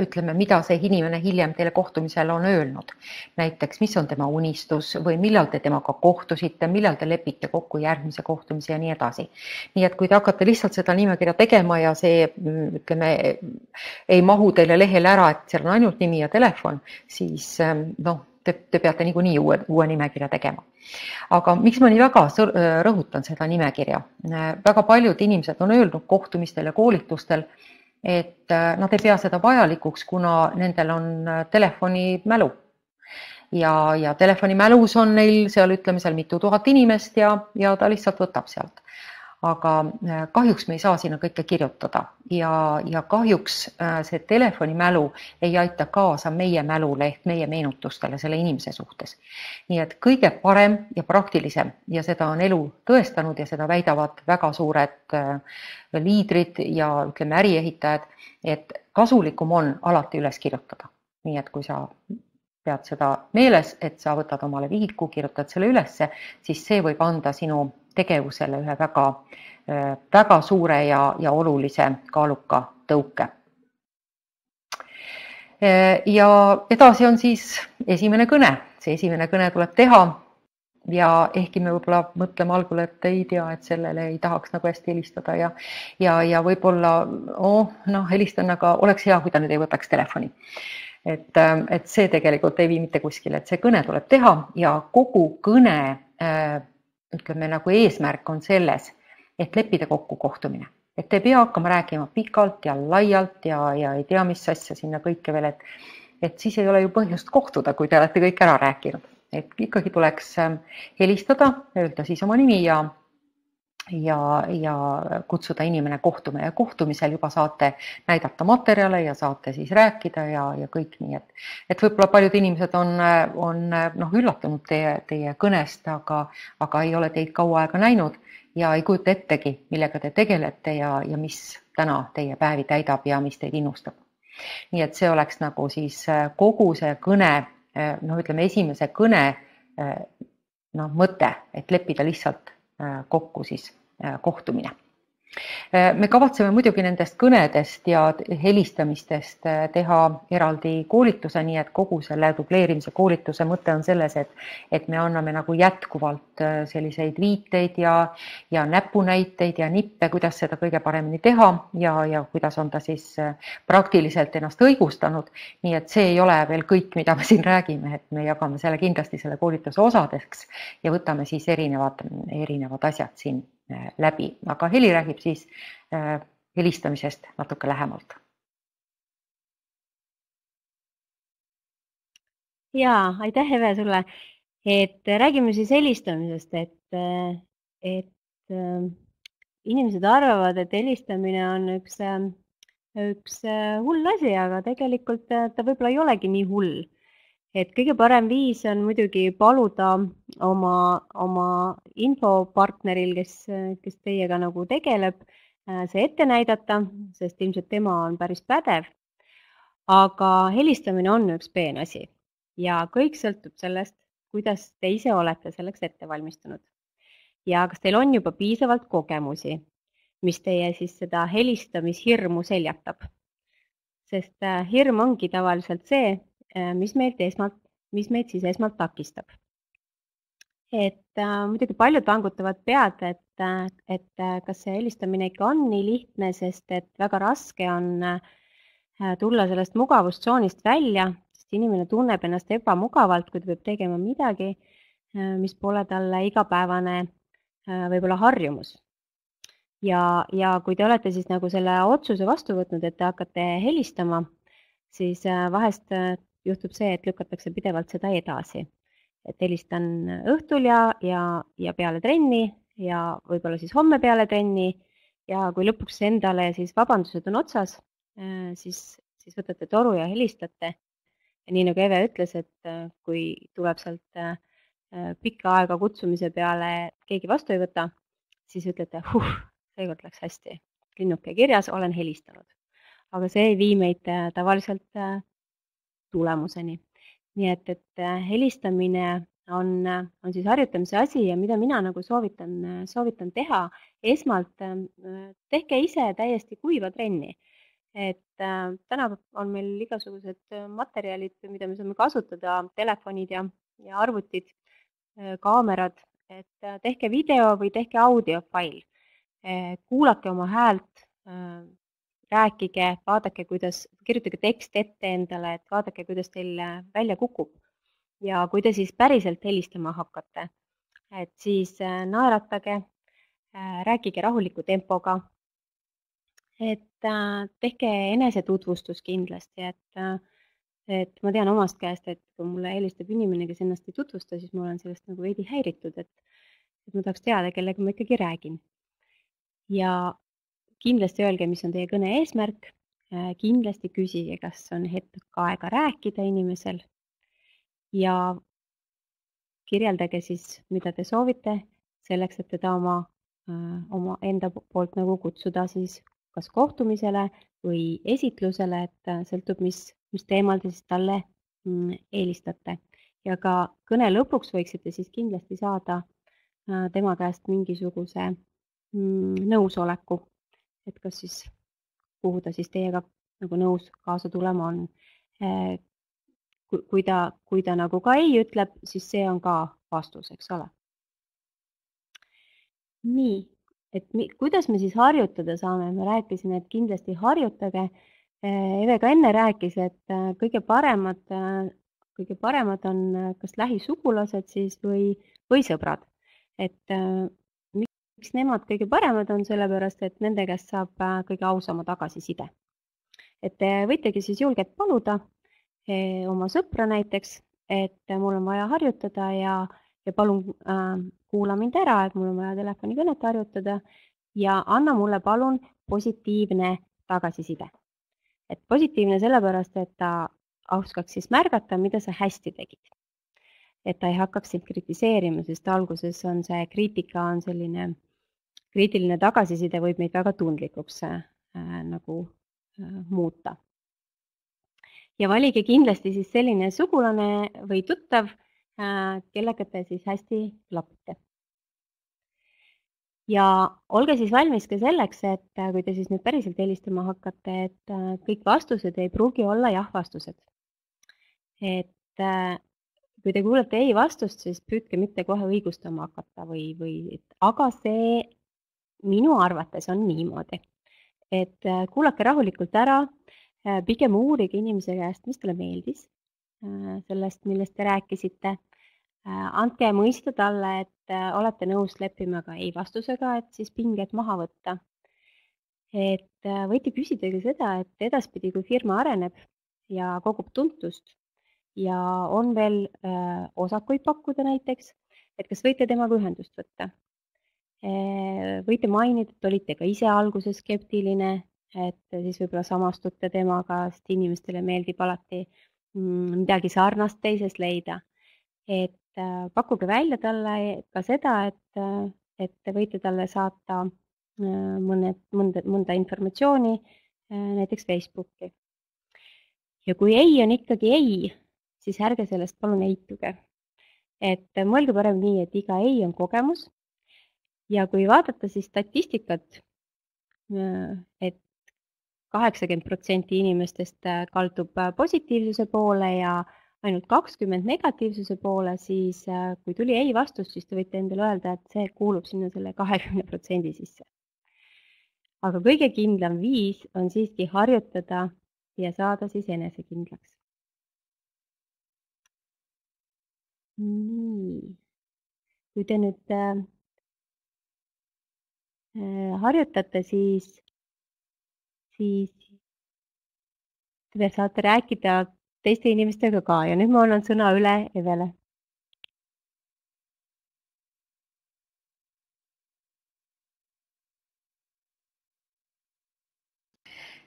ütleme, mida see inimene hiljem teile kohtumisel on öelnud. Näiteks, mis on tema unistus või millal te temaga kohtusite, millal te lepite kokku järgmise kohtumise ja nii edasi. Nii et kui te hakkate lihtsalt seda nimekirja tegema ja see, ütleme, ei mahu teile lehele ära, et seal on ainult nimi ja telefon, siis noh, te, te peate niikuinii uue, uue nimekirja tegema. Aga miks ma nii väga rõhutan seda nimekirja? Väga paljud inimesed on öelnud kohtumistel ja koolitustel, et nad ei pea seda vajalikuks, kuna nendel on telefonimälu. Ja, ja telefonimälus on neil seal, ütleme seal mitu tuhat inimest ja, ja ta lihtsalt võtab sealt. aga kahjuks me ei saa sinna kõike kirjutada ja, ja kahjuks see telefonimälu ei aita kaasa meie mälule ehk meie meenutustele selle inimese suhtes. Nii et kõige parem ja praktilisem ja seda on elu tõestanud ja seda väidavad väga suured liidrid ja ütleme äriehitajad, et kasulikum on alati üles kirjutada. Nii et kui sa pead seda meeles, et sa võtad omale vihiku, kirjutad selle ülesse, siis see võib anda sinu tegevusele ühe väga, väga suure ja, ja olulise kaaluka tõuke. Ja edasi on siis esimene kõne. See esimene kõne tuleb teha ja ehkki me võib-olla mõtleme algul, et ei tea, et sellele ei tahaks nagu hästi helistada ja, ja, ja võib-olla oh, no, helistan, aga oleks hea, kui ta nüüd ei võtaks telefoni. Et, et see tegelikult ei vii mitte kuskile, et see kõne tuleb teha ja kogu kõne ütleme, nagu eesmärk on selles, et leppida kokku kohtumine. Et te pea hakkama rääkima pikalt ja laialt ja, ja ei tea, mis asja sinna kõike veel, et, et siis ei ole ju põhjust kohtuda, kui te olete kõik ära rääkinud. Et ikkagi tuleks helistada, öelda siis oma nimi ja ja, ja kutsuda inimene kohtuma ja kohtumisel juba saate näidata materjale ja saate siis rääkida ja, ja kõik nii, et, et võib-olla paljud inimesed on, on noh, üllatunud teie, teie kõnest, aga, aga ei ole teid kaua aega näinud ja ei kujuta ettegi, millega te tegelete ja, ja mis täna teie päevi täidab ja mis teid innustab. Nii et see oleks nagu siis kogu see kõne, noh, ütleme esimese kõne noh, mõte, et leppida lihtsalt kokku siis kohtumine. Me kavatseme muidugi nendest kõnedest ja helistamistest teha eraldi koolituse, nii et kogu selle dubleerimise koolituse mõte on selles, et, et me anname nagu jätkuvalt selliseid viiteid ja, ja näpunäiteid ja nippe, kuidas seda kõige paremini teha ja, ja kuidas on ta siis praktiliselt ennast õigustanud. Nii et see ei ole veel kõik, mida me siin räägime, et me jagame selle kindlasti selle koolituse osadeks ja võtame siis erinevad, erinevad asjad siin läbi, aga Heli räägib siis äh, helistamisest natuke lähemalt. Jaa, aitäh Eve sulle, et räägime siis helistamisest, et, et äh, inimesed arvavad, et helistamine on üks, üks hull asi, aga tegelikult ta võib-olla ei olegi nii hull. Et kõige parem viis on muidugi paluda oma, oma infopartneril, kes, kes teiega nagu tegeleb, see ette näidata, sest ilmselt tema on päris pädev. Aga helistamine on üks peen asi ja kõik sõltub sellest, kuidas te ise olete selleks ette valmistunud. Ja kas teil on juba piisavalt kogemusi, mis teie siis seda helistamishirmu seljatab. Sest hirm ongi tavaliselt see, mis meid esmalt, mis meid siis esmalt takistab. Et äh, muidugi paljud vangutavad pead, et, et kas see helistamine ikka on nii lihtne, sest et väga raske on äh, tulla sellest mugavustsoonist välja, sest inimene tunneb ennast ebamugavalt, kui ta peab tegema midagi, äh, mis pole talle igapäevane äh, võib-olla harjumus. Ja, ja kui te olete siis nagu selle otsuse vastu võtnud, et te hakkate helistama, siis äh, vahest äh, juhtub see, et lükatakse pidevalt seda edasi. Et helistan õhtul ja, ja, ja peale trenni ja võib-olla siis homme peale trenni ja kui lõpuks endale siis vabandused on otsas, siis, siis võtate toru ja helistate. Ja nii nagu Eve ütles, et kui tuleb sealt pikka aega kutsumise peale keegi vastu ei võta, siis ütlete, huh, seekord läks hästi. Linnuke kirjas, olen helistanud. Aga see ei vii meid tavaliselt tulemuseni. Nii et, et helistamine on, on siis harjutamise asi ja mida mina nagu soovitan, soovitan teha. Esmalt tehke ise täiesti kuiva trenni. Et äh, täna on meil igasugused materjalid, mida me saame kasutada, telefonid ja, ja arvutid, äh, kaamerad. Et äh, tehke video või tehke audiofail. Äh, kuulake oma häält. Äh, Rääkige, vaadake, kuidas, kirjutage tekst ette endale, et vaadake, kuidas teil välja kukub. Ja kui te siis päriselt helistama hakkate, et siis naeratage, rääkige rahuliku tempoga, et tehke enesetutvustus kindlasti, et, et ma tean omast käest, et kui mulle helistab inimene, kes ennast ei tutvusta, siis ma olen sellest nagu veidi häiritud, et, et ma tahaks teada, kellega ma ikkagi räägin. ja kindlasti öelge, mis on teie kõne eesmärk, kindlasti küsige, kas on hetk aega rääkida inimesel ja kirjeldage siis, mida te soovite, selleks, et teda oma, oma enda poolt nagu kutsuda siis kas kohtumisele või esitlusele, et sõltub, mis, mis teemal te siis talle eelistate. Ja ka kõne lõpuks võiksite siis kindlasti saada tema käest mingisuguse nõusoleku, et kas siis, kuhu ta siis teiega nagu nõus kaasa tulema on. Kui ta, kui ta nagu ka ei ütleb, siis see on ka vastus, eks ole. Nii, et mi, kuidas me siis harjutada saame? Me rääkisime, et kindlasti harjutage. Eve ka enne rääkis, et kõige paremad, kõige paremad on kas lähisugulased siis või, või sõbrad. Et miks nemad kõige paremad on, sellepärast, et nende käest saab kõige ausama tagasiside. Et te võitegi siis julgelt paluda oma sõpra näiteks, et mul on vaja harjutada ja, ja palun äh, kuula mind ära, et mul on vaja telefonikõnet harjutada ja anna mulle palun positiivne tagasiside. Et positiivne sellepärast, et ta oskaks siis märgata, mida sa hästi tegid. Et ta ei hakkaks sind kritiseerima, sest alguses on see kriitika on selline, kriitiline tagasiside võib meid väga tundlikuks äh, nagu äh, muuta. Ja valige kindlasti siis selline sugulane või tuttav, kellega te siis hästi klapite. Ja olge siis valmis ka selleks, et kui te siis nüüd päriselt helistama hakkate, et kõik vastused ei pruugi olla jah-vastused. Et kui te kuulete ei vastust, siis püüdke mitte kohe õigustama hakata või, või et, aga see minu arvates on niimoodi. Et kuulake rahulikult ära, pigem uurige inimese käest, mis talle meeldis sellest, millest te rääkisite. Andke mõista talle, et olete nõus leppima ka ei vastusega, et siis pinged maha võtta. Et võite küsida ka seda, et edaspidi, kui firma areneb ja kogub tuntust ja on veel osakuid pakkuda näiteks, et kas võite temaga ühendust võtta. Võite mainida, et olite ka ise alguses skeptiline, et siis võib-olla samastute temaga, sest inimestele meeldib alati midagi sarnast teisest leida. Et pakkuge välja talle ka seda, et, et te võite talle saata mõned, mõnda, mõnda informatsiooni näiteks Facebooki. Ja kui ei on ikkagi ei, siis ärge sellest palun eituge. Et mõelge parem nii, et iga ei on kogemus. Ja kui vaadata siis statistikat, et kaheksakümmend protsenti inimestest kaldub positiivsuse poole ja ainult kakskümmend negatiivsuse poole, siis kui tuli ei vastus, siis te võite endale öelda, et see kuulub sinna selle kahekümne protsendi sisse. Aga kõige kindlam viis on siiski harjutada ja saada siis enesekindlaks. Nii. Kui te nüüd äh, harjutate, siis siis te saate rääkida teiste inimestega ka ja nüüd ma annan sõna üle Evele.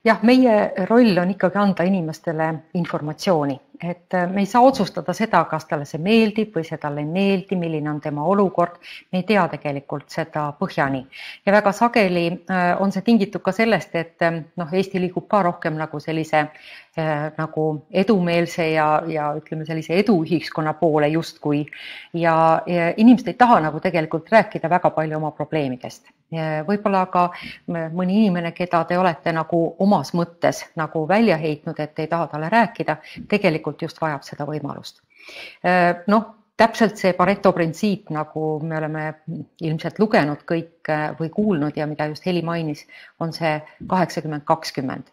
Jah, meie roll on ikkagi anda inimestele informatsiooni, et me ei saa otsustada seda, kas talle see meeldib või see talle ei meeldi, milline on tema olukord. Me ei tea tegelikult seda põhjani. Ja väga sageli on see tingitud ka sellest, et noh, Eesti liigub ka rohkem nagu sellise nagu edumeelse ja, ja ütleme sellise eduühiskonna poole justkui. Ja, ja inimesed ei taha nagu tegelikult rääkida väga palju oma probleemidest. Võib-olla ka mõni inimene, keda te olete nagu omas mõttes nagu välja heitnud, et ei taha talle rääkida, tegelikult just vajab seda võimalust. Noh, täpselt see Pareto printsiip, nagu me oleme ilmselt lugenud kõik või kuulnud ja mida just Heli mainis, on see kaheksakümmend kakskümmend.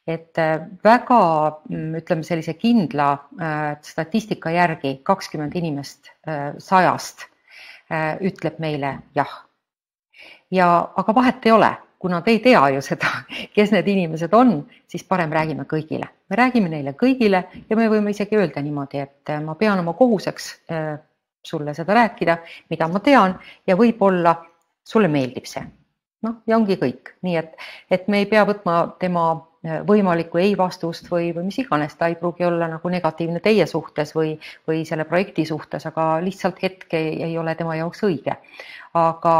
Et väga, ütleme sellise kindla statistika järgi kakskümmend inimest sajast ütleb meile jah. Ja, aga vahet ei ole, kuna te ei tea ju seda, kes need inimesed on, siis parem räägime kõigile. Me räägime neile kõigile ja me võime isegi öelda niimoodi, et ma pean oma kohuseks sulle seda rääkida, mida ma tean ja võib-olla sulle meeldib see. noh, ja ongi kõik. Nii et, et me ei pea võtma tema võimalikku ei vastust või, või mis iganes, ta ei pruugi olla nagu negatiivne teie suhtes või, või selle projekti suhtes, aga lihtsalt hetk ei, ei ole tema jaoks õige. Aga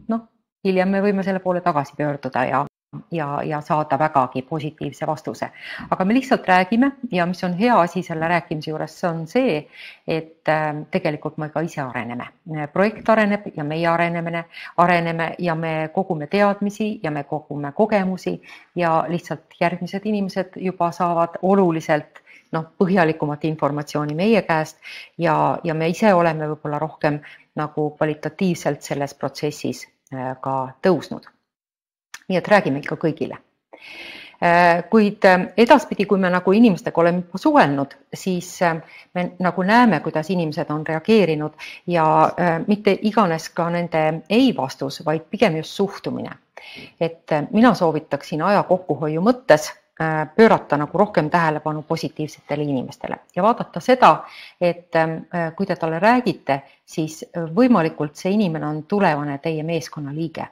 noh, hiljem me võime selle poole tagasi pöörduda ja ja, ja saada vägagi positiivse vastuse. Aga me lihtsalt räägime ja mis on hea asi selle rääkimise juures, see on see, et tegelikult me ka ise areneme. Projekt areneb ja meie arenemine, areneme ja me kogume teadmisi ja me kogume kogemusi ja lihtsalt järgmised inimesed juba saavad oluliselt noh, põhjalikumat informatsiooni meie käest ja, ja me ise oleme võib-olla rohkem nagu kvalitatiivselt selles protsessis ka tõusnud. Nii et räägime ikka kõigile. Kuid edaspidi, kui me nagu inimestega oleme suhelnud, siis me nagu näeme, kuidas inimesed on reageerinud ja mitte iganes ka nende ei vastus, vaid pigem just suhtumine. Et mina soovitaksin aja kokkuhoiu mõttes pöörata nagu rohkem tähelepanu positiivsetele inimestele ja vaadata seda, et kui te talle räägite, siis võimalikult see inimene on tulevane teie meeskonna liige.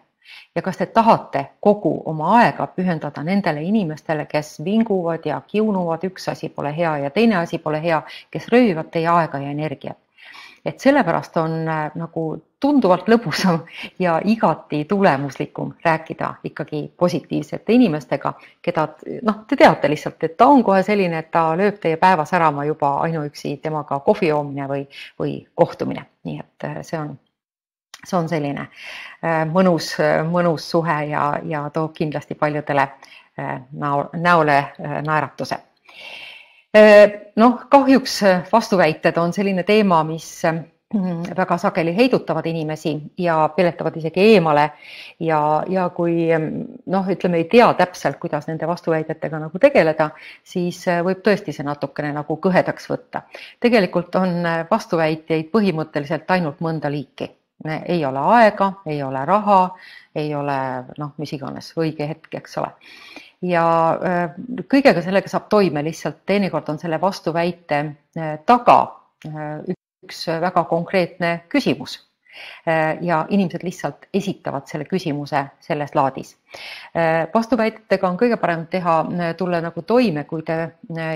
Ja kas te tahate kogu oma aega pühendada nendele inimestele, kes vinguvad ja kiunuvad, üks asi pole hea ja teine asi pole hea, kes röövivad teie aega ja energiat. Et sellepärast on nagu tunduvalt lõbusam ja igati tulemuslikum rääkida ikkagi positiivsete inimestega, keda noh, te teate lihtsalt, et ta on kohe selline, et ta lööb teie päeva särama juba ainuüksi temaga kohvi joomine või, või kohtumine. Nii et see on See on selline mõnus, mõnus suhe ja, ja toob kindlasti paljudele näole naeratuse. Noh, kahjuks vastuväited on selline teema, mis väga sageli heidutavad inimesi ja peletavad isegi eemale ja, ja kui noh, ütleme, ei tea täpselt, kuidas nende vastuväidetega nagu tegeleda, siis võib tõesti see natukene nagu kõhedaks võtta. Tegelikult on vastuväiteid põhimõtteliselt ainult mõnda liiki. Ei ole aega, ei ole raha, ei ole noh, mis iganes õige hetk, eks ole. Ja kõigega sellega saab toime, lihtsalt teinekord on selle vastuväite taga üks väga konkreetne küsimus. Ja inimesed lihtsalt esitavad selle küsimuse selles laadis. Vastuväitetega on kõige parem teha, tulla nagu toime, kui te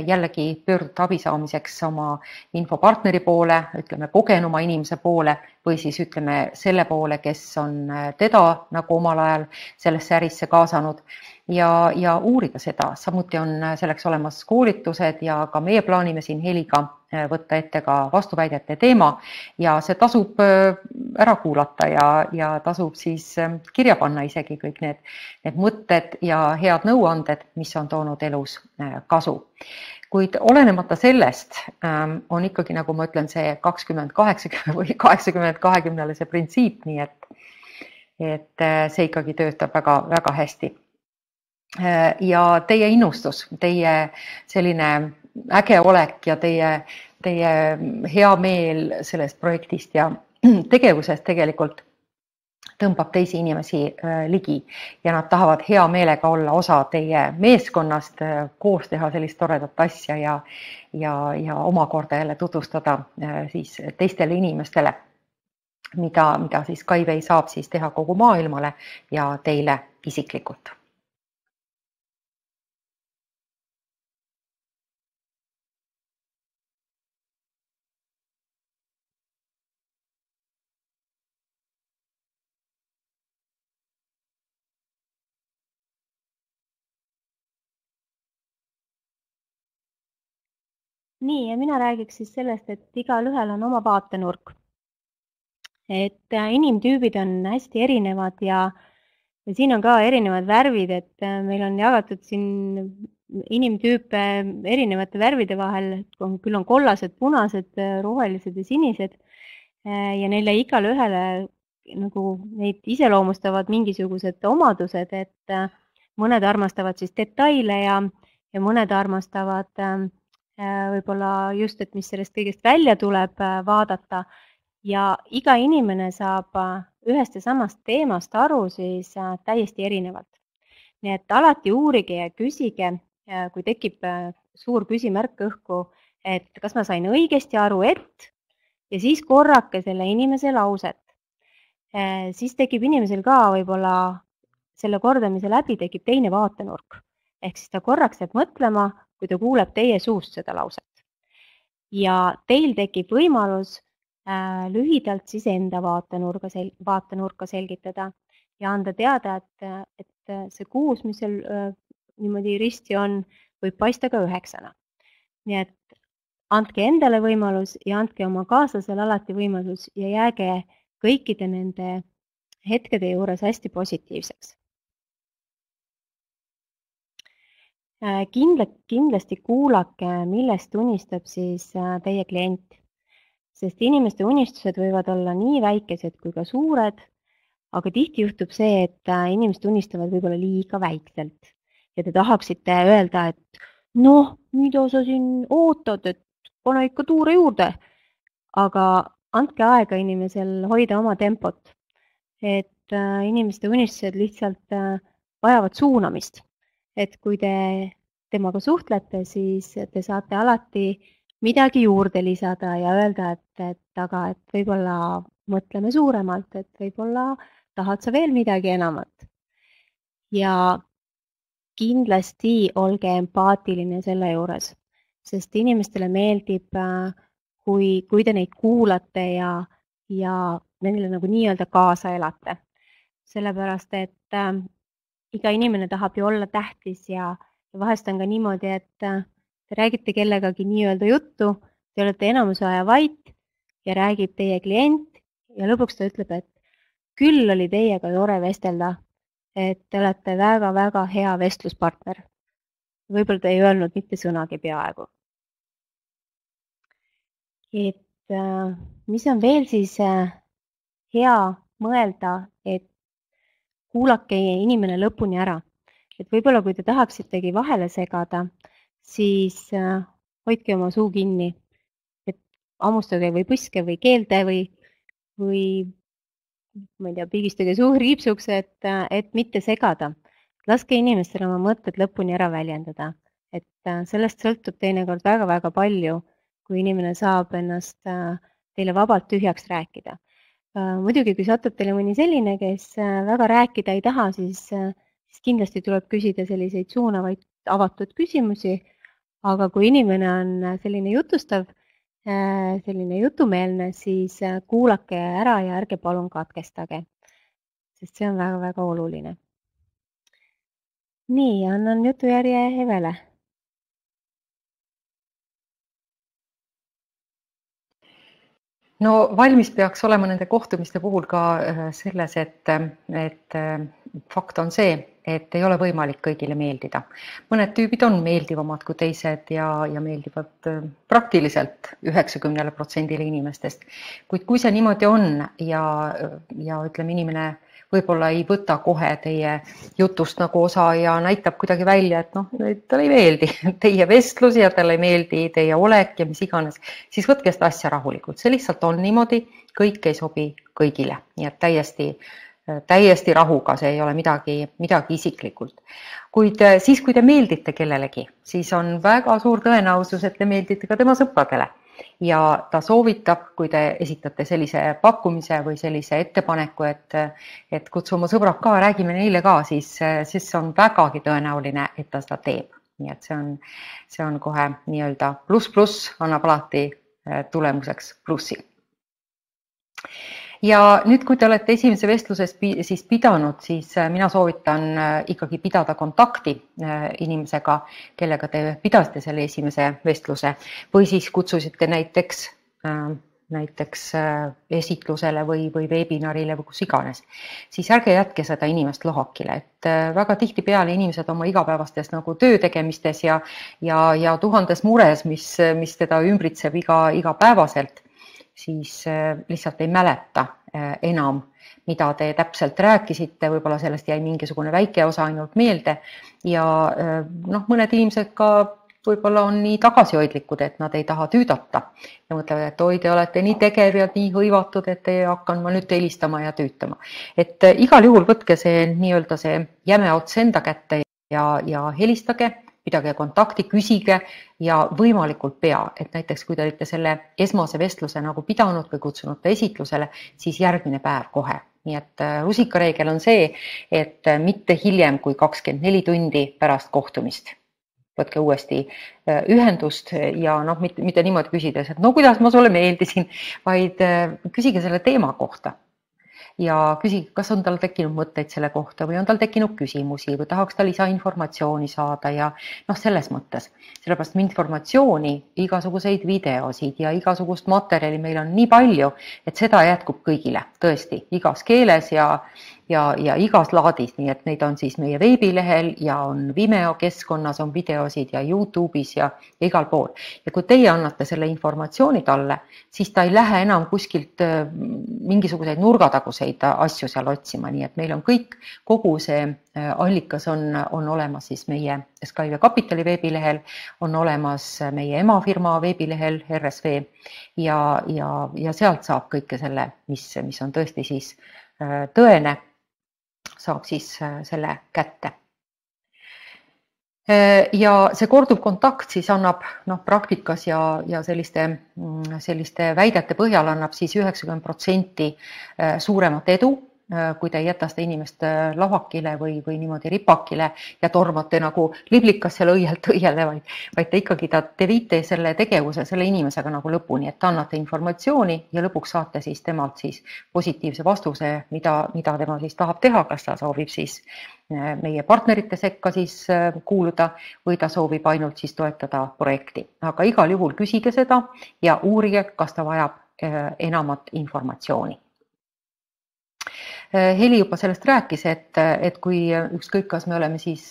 jällegi pöördute abi saamiseks oma infopartneri poole, ütleme kogenuma inimese poole või siis ütleme selle poole, kes on teda nagu omal ajal sellesse ärisse kaasanud ja, ja uurida seda. Samuti on selleks olemas koolitused ja ka meie plaanime siin Heliga võtta ette ka vastuväidete teema ja see tasub ära kuulata ja, ja tasub siis kirja panna isegi kõik need, need mõtted ja head nõuanded, mis on toonud elus kasu. Kuid olenemata sellest on ikkagi, nagu ma ütlen, see kakskümmend kaheksakümmend või kaheksakümmend kahekümnele see printsiip, nii et, et see ikkagi töötab väga, väga hästi. Ja teie innustus, teie selline äge olek ja teie, teie hea meel sellest projektist ja tegevusest tegelikult tõmbab teisi inimesi ligi ja nad tahavad hea meelega olla osa teie meeskonnast, koos teha sellist toredat asja ja, ja, ja omakorda jälle tutvustada siis teistele inimestele, mida, mida siis Skyway saab siis teha kogu maailmale ja teile isiklikult. Nii, ja mina räägiks siis sellest, et igal ühel on oma vaatenurk. Et inimtüübid on hästi erinevad ja, ja siin on ka erinevad värvid, et meil on jagatud siin inimtüüpe erinevate värvide vahel, küll on kollased, punased, rohelised ja sinised ja neile igal ühele nagu neid iseloomustavad mingisugused omadused, et mõned armastavad siis detaile ja, ja mõned armastavad võib-olla just, et mis sellest kõigest välja tuleb vaadata ja iga inimene saab ühest ja samast teemast aru siis täiesti erinevalt. Nii et alati uurige ja küsige, kui tekib suur küsimärk õhku, et kas ma sain õigesti aru, et ja siis korrake selle inimese lauset. Siis tekib inimesel ka võib-olla selle kordamise läbi tekib teine vaatenurk. Ehk siis ta korraks jääb mõtlema, kui ta kuuleb teie suust seda lauset. Ja teil tekib võimalus äh, lühidalt siis enda vaatenurka, sel vaatenurka selgitada ja anda teada, et, et see kuus, mis seal äh, niimoodi risti on, võib paista ka üheksana. Nii et andke endale võimalus ja andke oma kaaslasele alati võimalus ja jääge kõikide nende hetkede juures hästi positiivseks. Kindla, kindlasti kuulake, millest unistab siis teie klient, sest inimeste unistused võivad olla nii väikesed kui ka suured, aga tihti juhtub see, et inimesed unistavad võib-olla liiga väikselt ja te tahaksite öelda, et noh, mida sa siin ootad, et pane ikka tuure juurde, aga andke aega inimesel hoida oma tempot, et inimeste unistused lihtsalt vajavad suunamist. Et kui te temaga suhtlete, siis te saate alati midagi juurde lisada ja öelda, et, et aga et võib-olla mõtleme suuremalt, et võib-olla tahad sa veel midagi enamat. Ja kindlasti olge empaatiline selle juures, sest inimestele meeldib, kui, kui te neid kuulate ja, ja nendele nagu nii-öelda kaasa elate. Sellepärast, et äh, iga inimene tahab ju olla tähtis ja, ja vahest on ka niimoodi, et äh, te räägite kellegagi nii-öelda juttu, te olete enamuse aja vait ja räägib teie klient ja lõpuks ta ütleb, et küll oli teiega tore vestelda, et te olete väga-väga hea vestluspartner. Võib-olla te ei öelnud mitte sõnagi peaaegu. Et äh, mis on veel siis äh, hea mõelda, et kuulake inimene lõpuni ära. Et võib-olla kui te tahaksitegi vahele segada, siis äh, hoidke oma suu kinni. Et hammustage või põske või keelde või, või ma ei tea, pigistage suu riipsuks, et, et mitte segada. Laske inimestele oma mõtted lõpuni ära väljendada. Et äh, sellest sõltub teinekord väga-väga palju, kui inimene saab ennast äh, teile vabalt tühjaks rääkida. Muidugi, kui satub teile mõni selline, kes väga rääkida ei taha, siis, siis kindlasti tuleb küsida selliseid suunavaid avatud küsimusi, aga kui inimene on selline jutustav, selline jutumeelne, siis kuulake ära ja ärge palun katkestage, sest see on väga-väga oluline. Nii, annan jutujärje Evele. No valmis peaks olema nende kohtumiste puhul ka selles, et, et fakt on see, et ei ole võimalik kõigile meeldida. Mõned tüübid on meeldivamad kui teised ja, ja meeldivad praktiliselt üheksakümnele protsendile inimestest. Kuid kui see niimoodi on ja, ja ütleme, inimene võib-olla ei võta kohe teie jutust nagu osa ja näitab kuidagi välja, et noh, talle ei meeldi teie vestlus ja talle ei meeldi teie olek ja mis iganes, siis võtke seda asja rahulikult. See lihtsalt on niimoodi, kõik ei sobi kõigile, nii et täiesti, täiesti rahuga, see ei ole midagi, midagi isiklikult. Kuid siis, kui te meeldite kellelegi, siis on väga suur tõenäosus, et te meeldite ka tema sõpradele. Ja ta soovitab, kui te esitate sellise pakkumise või sellise ettepaneku, et, et kutsu oma sõbrad ka, räägime neile ka, siis, siis on vägagi tõenäoline, et ta seda teeb. Nii et see on, see on kohe nii-öelda pluss pluss, annab alati tulemuseks plussi. Ja nüüd, kui te olete esimese vestluses siis pidanud, siis mina soovitan ikkagi pidada kontakti inimesega, kellega te pidasite selle esimese vestluse või siis kutsusite näiteks, näiteks esitlusele või, või webinarile või kus iganes. Siis ärge jätke seda inimest lohakile, et väga tihti peale inimesed oma igapäevastes nagu töö tegemistes ja, ja, ja tuhandes mures, mis, mis teda ümbritseb iga, iga päevaselt, siis lihtsalt ei mäleta enam, mida te täpselt rääkisite, võib-olla sellest jäi mingisugune väike osa ainult meelde ja noh, mõned inimesed ka võib-olla on nii tagasihoidlikud, et nad ei taha tüüdata ja mõtlevad, et oi, te olete nii tegev ja nii hõivatud, et ei hakkan ma nüüd helistama ja tüütama. Et igal juhul võtke see nii-öelda see jäme ots enda kätte ja, ja helistage, pidage kontakti, küsige ja võimalikult pea, et näiteks kui te olite selle esmase vestluse nagu pidanud või kutsunud ta esitlusele, siis järgmine päev kohe nii et rusikareegel on see, et mitte hiljem kui kakskümmend neli tundi pärast kohtumist. Võtke uuesti ühendust ja noh, mitte, mitte niimoodi küsides, et no kuidas ma sulle meeldisin, vaid küsige selle teema kohta. Ja küsige, kas on tal tekkinud mõtteid selle kohta või on tal tekkinud küsimusi või tahaks ta lisainformatsiooni saada ja noh, selles mõttes. Sellepärast informatsiooni, igasuguseid videosid ja igasugust materjali meil on nii palju, et seda jätkub kõigile, tõesti, igas keeles ja, ja, ja igas laadis, nii et neid on siis meie veebilehel ja on Vimeo keskkonnas, on videosid ja YouTube'is ja, ja igal pool. Ja kui teie annate selle informatsiooni talle, siis ta ei lähe enam kuskilt mingisuguseid nurgataguseid asju seal otsima, nii et meil on kõik, kogu see allikas on, on olemas siis meie Skyway Kapitali veebilehel, on olemas meie emafirma veebilehel R S V ja, ja, ja sealt saab kõike selle, mis, mis on tõesti siis tõene, saab siis selle kätte. Ja see korduv kontakt siis annab noh, praktikas ja, ja selliste, selliste väidete põhjal annab siis üheksakümmend protsenti suuremat edu, kui te ei jäta seda inimest lavakile või, või niimoodi ripakile ja tormate nagu liblikas seal õielt õiele, vaid, vaid te ikkagi ta, te viite selle tegevuse selle inimesega nagu lõpuni, et annate informatsiooni ja lõpuks saate siis temalt siis positiivse vastuse, mida, mida tema siis tahab teha, kas ta soovib siis meie partnerite sekka siis kuuluda või ta soovib ainult siis toetada projekti. Aga igal juhul küsige seda ja uurige, kas ta vajab enamat informatsiooni. Heli juba sellest rääkis, et, et kui ükskõik, kas me oleme siis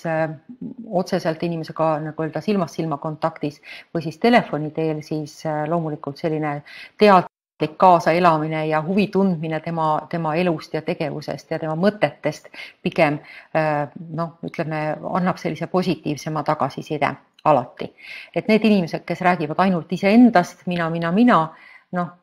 otseselt inimesega nagu öelda silmast silma kontaktis või siis telefoni teel, siis loomulikult selline teadlik kaasaelamine ja huvi tundmine tema, tema elust ja tegevusest ja tema mõtetest pigem noh, ütleme, annab sellise positiivsema tagasiside alati. Et need inimesed, kes räägivad ainult iseendast, mina, mina, mina, noh,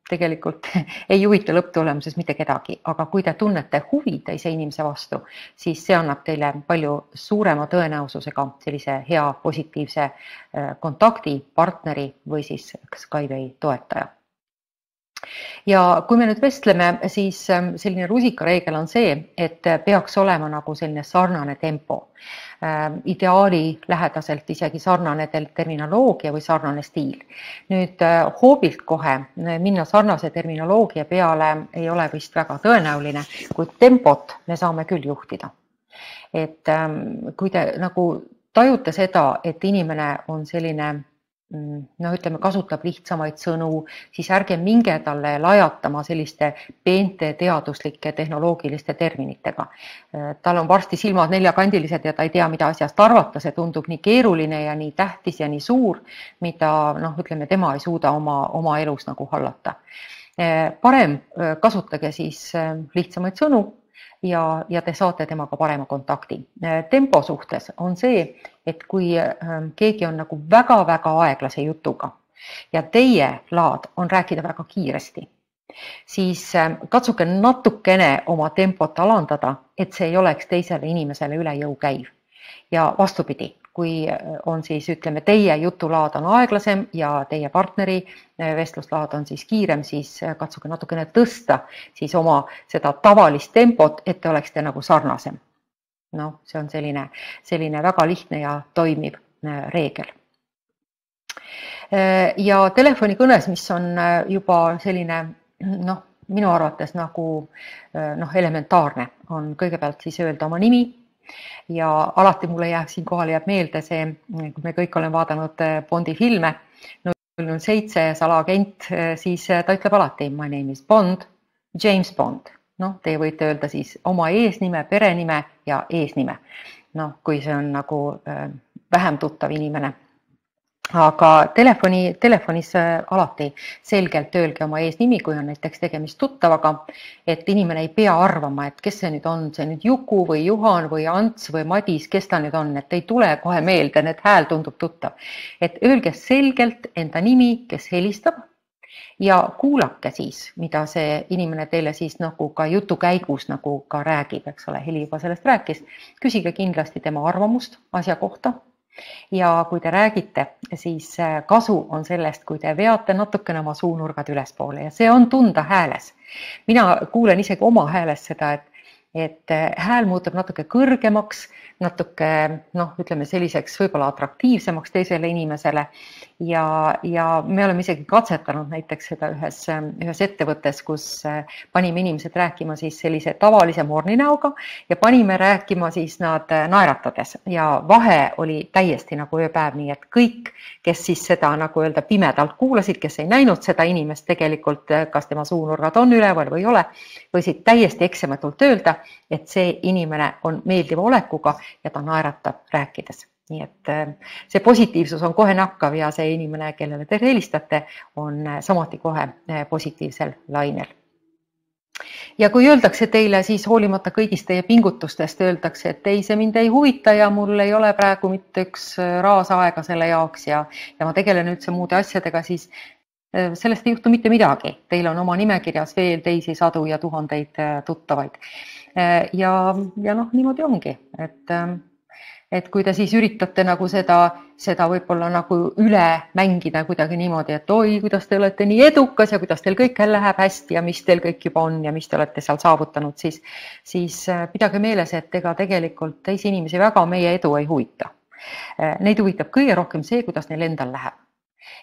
tegelikult ei huvita lõpptulemuses mitte kedagi, aga kui te tunnete huvi teise inimese vastu, siis see annab teile palju suurema tõenäosusega sellise hea positiivse kontakti, partneri või siis Skyway toetaja. Ja kui me nüüd vestleme, siis selline rusikareegel on see, et peaks olema nagu selline sarnane tempo. Ideaali lähedaselt isegi sarnane terminoloogia või sarnane stiil. Nüüd hoobilt kohe minna sarnase terminoloogia peale ei ole vist väga tõenäoline, kuid tempot me saame küll juhtida. Et kui te nagu tajute seda, et inimene on selline no ütleme, kasutab lihtsamaid sõnu, siis ärge minge talle lajatama selliste peente teaduslike tehnoloogiliste terminitega. Tal on varsti silmad neljakandilised ja ta ei tea, mida asjast arvata, see tundub nii keeruline ja nii tähtis ja nii suur, mida noh, ütleme, tema ei suuda oma, oma elus nagu hallata. Parem kasutage siis lihtsamaid sõnu ja, ja te saate temaga parema kontakti. Tempo suhtes on see, et kui keegi on nagu väga-väga aeglase jutuga ja teie laad on rääkida väga kiiresti, siis katsuge natukene oma tempot alandada, et see ei oleks teisele inimesele üle jõu käiv. Ja vastupidi, kui on siis, ütleme, teie jutulaad on aeglasem ja teie partneri vestluslaad on siis kiirem, siis katsuge natukene tõsta siis oma seda tavalist tempot, et te oleksite nagu sarnasem. No, see on selline, selline väga lihtne ja toimiv reegel. Ja telefonikõnes, mis on juba selline, noh, minu arvates nagu noh, elementaarne, on kõigepealt siis öelda oma nimi ja alati mulle jääb siin kohal jääb meelde see, kui me kõik oleme vaadanud Bondi filme, null null seitse salaagent, siis ta ütleb alati my name is Bond, James Bond. Noh, te võite öelda siis oma eesnime, perenime ja eesnime. Noh, kui see on nagu vähem tuttav inimene. Aga telefoni, telefonis alati selgelt öelge oma eesnimi, kui on näiteks tegemist tuttavaga, et inimene ei pea arvama, et kes see nüüd on, see nüüd Juku või Juhan või Ants või Madis, kes ta nüüd on, et ei tule kohe meelde, need hääl tundub tuttav. Et öelge selgelt enda nimi, kes helistab ja kuulake siis, mida see inimene teile siis nagu ka jutu käigus nagu ka räägib, eks ole, Heli juba sellest rääkis. Küsige kindlasti tema arvamust asja kohta. Ja kui te räägite, siis kasu on sellest, kui te veate natukene oma suunurgad ülespoole ja see on tunda hääles. Mina kuulen isegi oma hääles seda, et, et hääl muutub natuke kõrgemaks, natuke, noh, ütleme selliseks võib-olla atraktiivsemaks teisele inimesele ja, ja me oleme isegi katsetanud näiteks seda ühes, ühes ettevõttes, kus panime inimesed rääkima siis sellise tavalise morninäoga ja panime rääkima siis nad naeratades ja vahe oli täiesti nagu ööpäev, nii et kõik, kes siis seda nagu öelda pimedalt kuulasid, kes ei näinud seda inimest tegelikult, kas tema suunurgad on üleval või ei ole, võisid täiesti eksematult öelda, et see inimene on meeldiva olekuga ja ta naeratab rääkides. Nii et see positiivsus on kohe nakkav ja see inimene, kellele te helistate, on samuti kohe positiivsel lainel. Ja kui öeldakse teile, siis hoolimata kõigist teie pingutustest, öeldakse, et ei, see mind ei huvita ja mul ei ole praegu mitte üks raas aega selle jaoks ja, ja ma tegelen üldse muude asjadega, siis sellest ei juhtu mitte midagi. Teil on oma nimekirjas veel teisi sadu ja tuhandeid tuttavaid. Ja, ja noh, niimoodi ongi, et, et kui te siis üritate nagu seda, seda võib-olla nagu üle mängida kuidagi niimoodi, et oi, kuidas te olete nii edukas ja kuidas teil kõik läheb hästi ja mis teil kõik juba on ja mis te olete seal saavutanud, siis, siis pidage meeles, et ega tegelikult teisi inimesi väga meie edu ei huvita. Neid huvitab kõige rohkem see, kuidas neil endal läheb.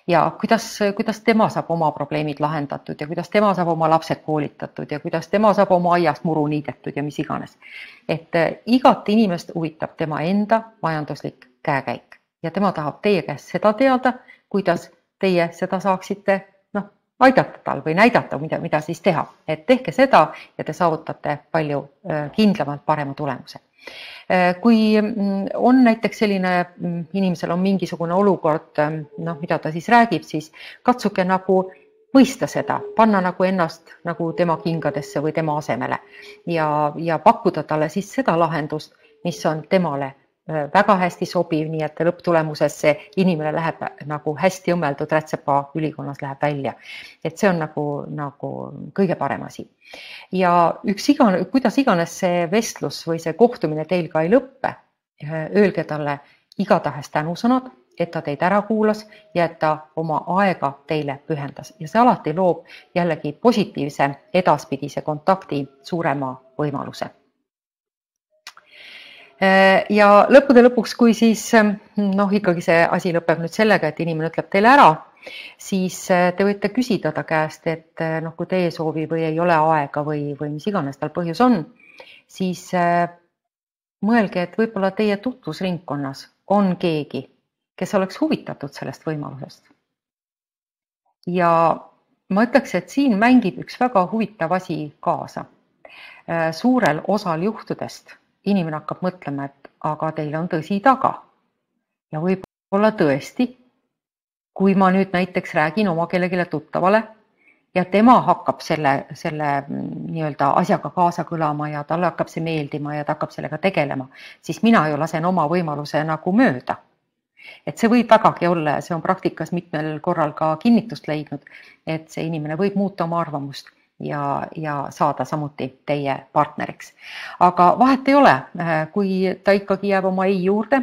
Ja kuidas, kuidas tema saab oma probleemid lahendatud ja kuidas tema saab oma lapsed koolitatud ja kuidas tema saab oma aiast muru niidetud ja mis iganes. Et igat inimest huvitab tema enda majanduslik käekäik ja tema tahab teie käest seda teada, kuidas teie seda saaksite noh, aidata tal või näidata, mida, mida siis teha. Et tehke seda ja te saavutate palju kindlamalt parema tulemuse. Kui on näiteks selline, inimesel on mingisugune olukord, noh, mida ta siis räägib, siis katsuke nagu mõista seda, panna nagu ennast nagu tema kingadesse või tema asemele ja, ja pakkuda talle siis seda lahendust, mis on temale väga hästi sobiv, nii et lõpptulemuses see inimene läheb nagu hästi õmmeldud rätsepa ülikonnas läheb välja. Et see on nagu, nagu kõige parem asi. Ja üks igane, kuidas iganes see vestlus või see kohtumine teil ka ei lõppe, öelge talle igatahes tänusõnad, et ta teid ära kuulas ja et ta oma aega teile pühendas. Ja see alati loob jällegi positiivse edaspidise kontakti suurema võimaluse. Ja lõppude lõpuks, kui siis noh, ikkagi see asi lõpeb nüüd sellega, et inimene ütleb teile ära, siis te võite küsida ta käest, et noh, kui teie soovi või ei ole aega või, või mis iganes tal põhjus on, siis mõelge, et võib-olla teie tutvusringkonnas on keegi, kes oleks huvitatud sellest võimalusest. Ja ma ütleks, et siin mängib üks väga huvitav asi kaasa. Suurel osal juhtudest inimene hakkab mõtlema, et aga teil on tõsi taga. Ja võib-olla tõesti, kui ma nüüd näiteks räägin oma kellegile tuttavale ja tema hakkab selle, selle nii-öelda asjaga kaasa kõlama ja talle hakkab see meeldima ja ta hakkab sellega tegelema, siis mina ju lasen oma võimaluse nagu mööda. Et see võib vägagi olla ja see on praktikas mitmel korral ka kinnitust leidnud, et see inimene võib muuta oma arvamust ja, ja saada samuti teie partneriks. Aga vahet ei ole, kui ta ikkagi jääb oma ei juurde,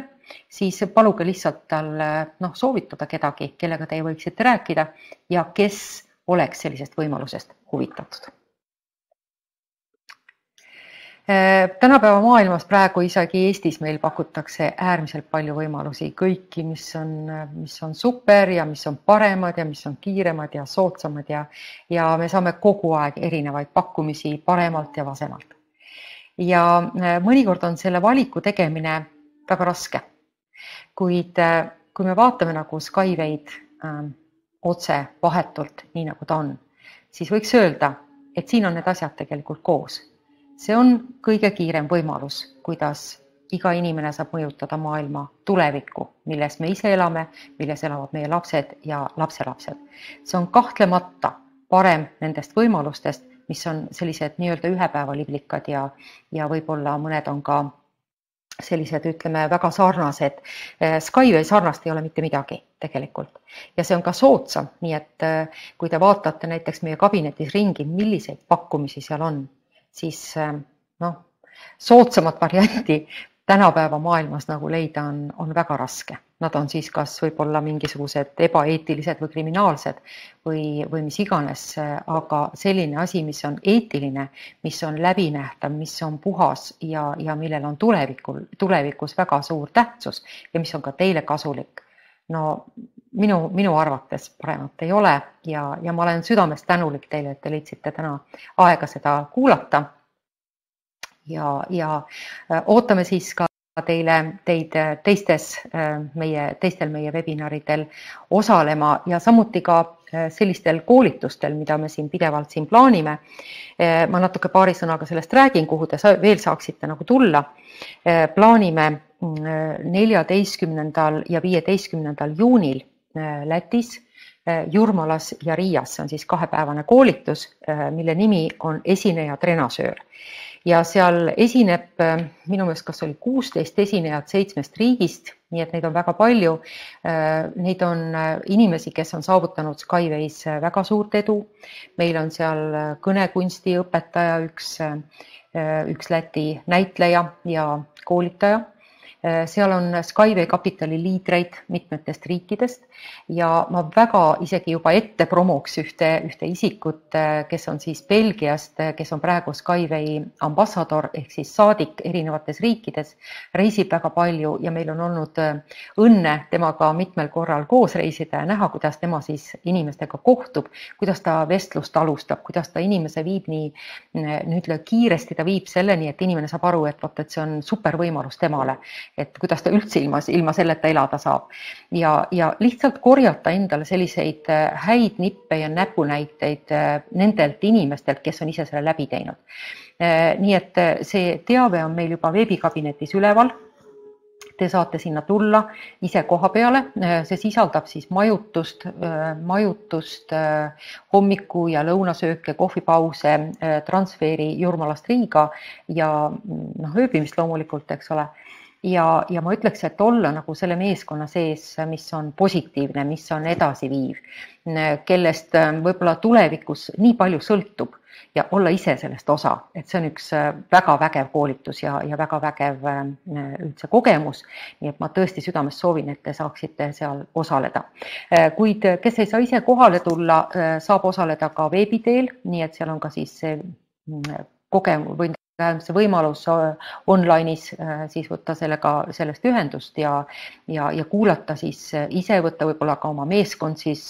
siis paluge lihtsalt tal noh, soovitada kedagi, kellega te võiksite rääkida ja kes oleks sellisest võimalusest huvitatud. Tänapäeva maailmas praegu isegi Eestis meil pakutakse äärmiselt palju võimalusi, kõiki, mis on, mis on super ja mis on paremad ja mis on kiiremad ja soodsamad ja, ja me saame kogu aeg erinevaid pakkumisi paremalt ja vasemalt. Ja mõnikord on selle valiku tegemine väga raske, kuid kui me vaatame nagu Skywayd äh, otse vahetult, nii nagu ta on, siis võiks öelda, et siin on need asjad tegelikult koos. See on kõige kiirem võimalus, kuidas iga inimene saab mõjutada maailma tulevikku, milles me ise elame, milles elavad meie lapsed ja lapselapsed. See on kahtlemata parem nendest võimalustest, mis on sellised nii-öelda ühepäevaliblikad ja, ja võib-olla mõned on ka sellised, ütleme, väga sarnased. Skyway sarnast ei ole mitte midagi tegelikult. Ja see on ka soodsam, nii et kui te vaatate näiteks meie kabinetis ringi, milliseid pakkumisi seal on, siis noh, soodsamat varianti tänapäeva maailmas nagu leida on, on väga raske. Nad on siis kas võib-olla mingisugused ebaeetilised või kriminaalsed või, või mis iganes, aga selline asi, mis on eetiline, mis on läbinähtav, mis on puhas ja, ja millel on tulevikul, tulevikus väga suur tähtsus ja mis on ka teile kasulik. No minu, minu arvates paremat ei ole ja, ja ma olen südamest tänulik teile, et te leidsite täna aega seda kuulata. Ja, ja ootame siis ka teile, teid teistes meie, teistel meie webinaridel osalema ja samuti ka sellistel koolitustel, mida me siin pidevalt siin plaanime. Ma natuke paari sõnaga sellest räägin, kuhu te veel saaksite nagu tulla. Plaanime neljateistkümnendal ja viieteistkümnendal juunil Lätis, Jurmalas ja Riias. See on siis kahepäevane koolitus, mille nimi on esineja trenasöör. Ja seal esineb minu meelest, kas oli kuusteist esinejat seitsmest riigist, nii et neid on väga palju. Neid on inimesi, kes on saavutanud Skyways väga suurt edu. Meil on seal kõnekunsti õpetaja, üks, üks Läti näitleja ja koolitaja. Seal on Skyway kapitali liidreid mitmetest riikidest ja ma väga isegi juba ette promoks ühte, ühte isikut, kes on siis Belgiast, kes on praegu Skyway ambassador ehk siis saadik erinevates riikides, reisib väga palju ja meil on olnud õnne temaga mitmel korral koos reisida ja näha, kuidas tema siis inimestega kohtub, kuidas ta vestlust alustab, kuidas ta inimese viib nii nüüd kiiresti, ta viib selleni, et inimene saab aru, et, võt, et see on super võimalus temale. Et kuidas ta üldse ilma, ilma selleta elada saab. Ja, ja lihtsalt korjata endale selliseid häid nippe ja näpunäiteid nendelt inimestelt, kes on ise selle läbi teinud. Nii et see teave on meil juba veebikabinetis üleval. Te saate sinna tulla ise koha peale. See sisaldab siis majutust, majutust hommiku ja lõunasööke, kohvipause, transferi Jurmalast Riiga ja no, ööbimist loomulikult, eks ole. Ja, ja ma ütleks, et olla nagu selle meeskonna sees, mis on positiivne, mis on edasiviiv, kellest võib-olla tulevikus nii palju sõltub ja olla ise sellest osa, et see on üks väga vägev koolitus ja, ja väga vägev üldse kogemus. Nii et ma tõesti südamest soovin, et te saaksite seal osaleda. Kuid kes ei saa ise kohale tulla, saab osaleda ka veebiteel, nii et seal on ka siis kogemus või see võimalus online'is siis võtta sellega, sellest ühendust ja, ja, ja kuulata siis ise, võtta võib-olla ka oma meeskond siis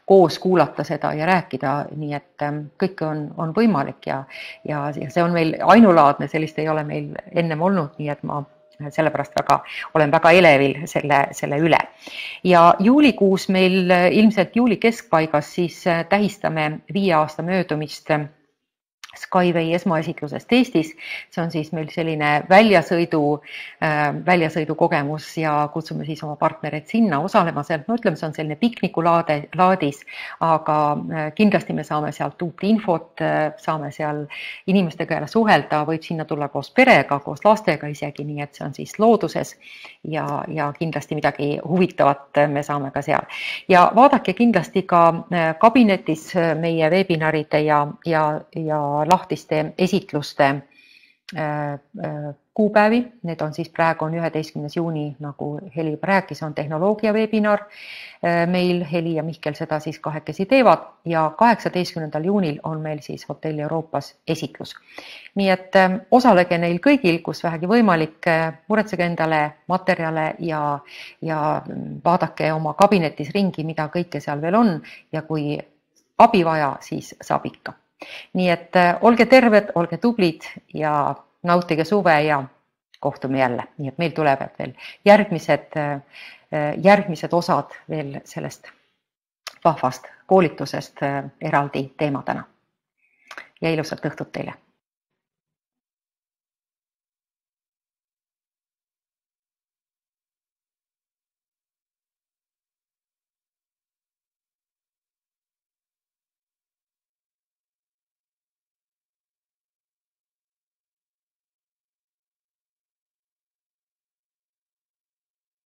koos kuulata seda ja rääkida, nii et kõik on, on võimalik ja, ja, ja see on meil ainulaadne, sellist ei ole meil ennem olnud, nii et ma sellepärast väga, olen väga elevil selle, selle üle. Ja juulikuus meil ilmselt juuli keskpaigas siis tähistame viie aasta möödumist Skyway esmaesitlusest Eestis. See on siis meil selline väljasõidu, väljasõidu kogemus ja kutsume siis oma partnereid sinna osalema sealt. No ütleme, see on selline piknikulaade, laadis, aga kindlasti me saame sealt uut infot, saame seal inimestega jälle suhelda, võib sinna tulla koos perega, koos lastega isegi, nii et see on siis looduses ja, ja kindlasti midagi huvitavat me saame ka seal. Ja vaadake kindlasti ka kabinetis meie webinaride ja, ja, ja lahtiste esitluste kuupäevi. Need on siis praegu on üheteistkümnes juuni, nagu Heli rääkis, on tehnoloogia webinar. Meil Heli ja Mihkel seda siis kahekesi teevad ja kaheksateistkümnendal juunil on meil siis Hotell Euroopas esitlus. Nii et osalege neil kõigil, kus vähegi võimalik, muretsege endale materjale ja, ja vaadake oma kabinetis ringi, mida kõike seal veel on ja kui abi vaja, siis saab ikka. Nii et olge terved, olge tublid ja nautige suve ja kohtume jälle. Nii et meil tulevad veel järgmised, järgmised osad veel sellest vahvast koolitusest eraldi teemadena. Ja ilusat õhtut teile!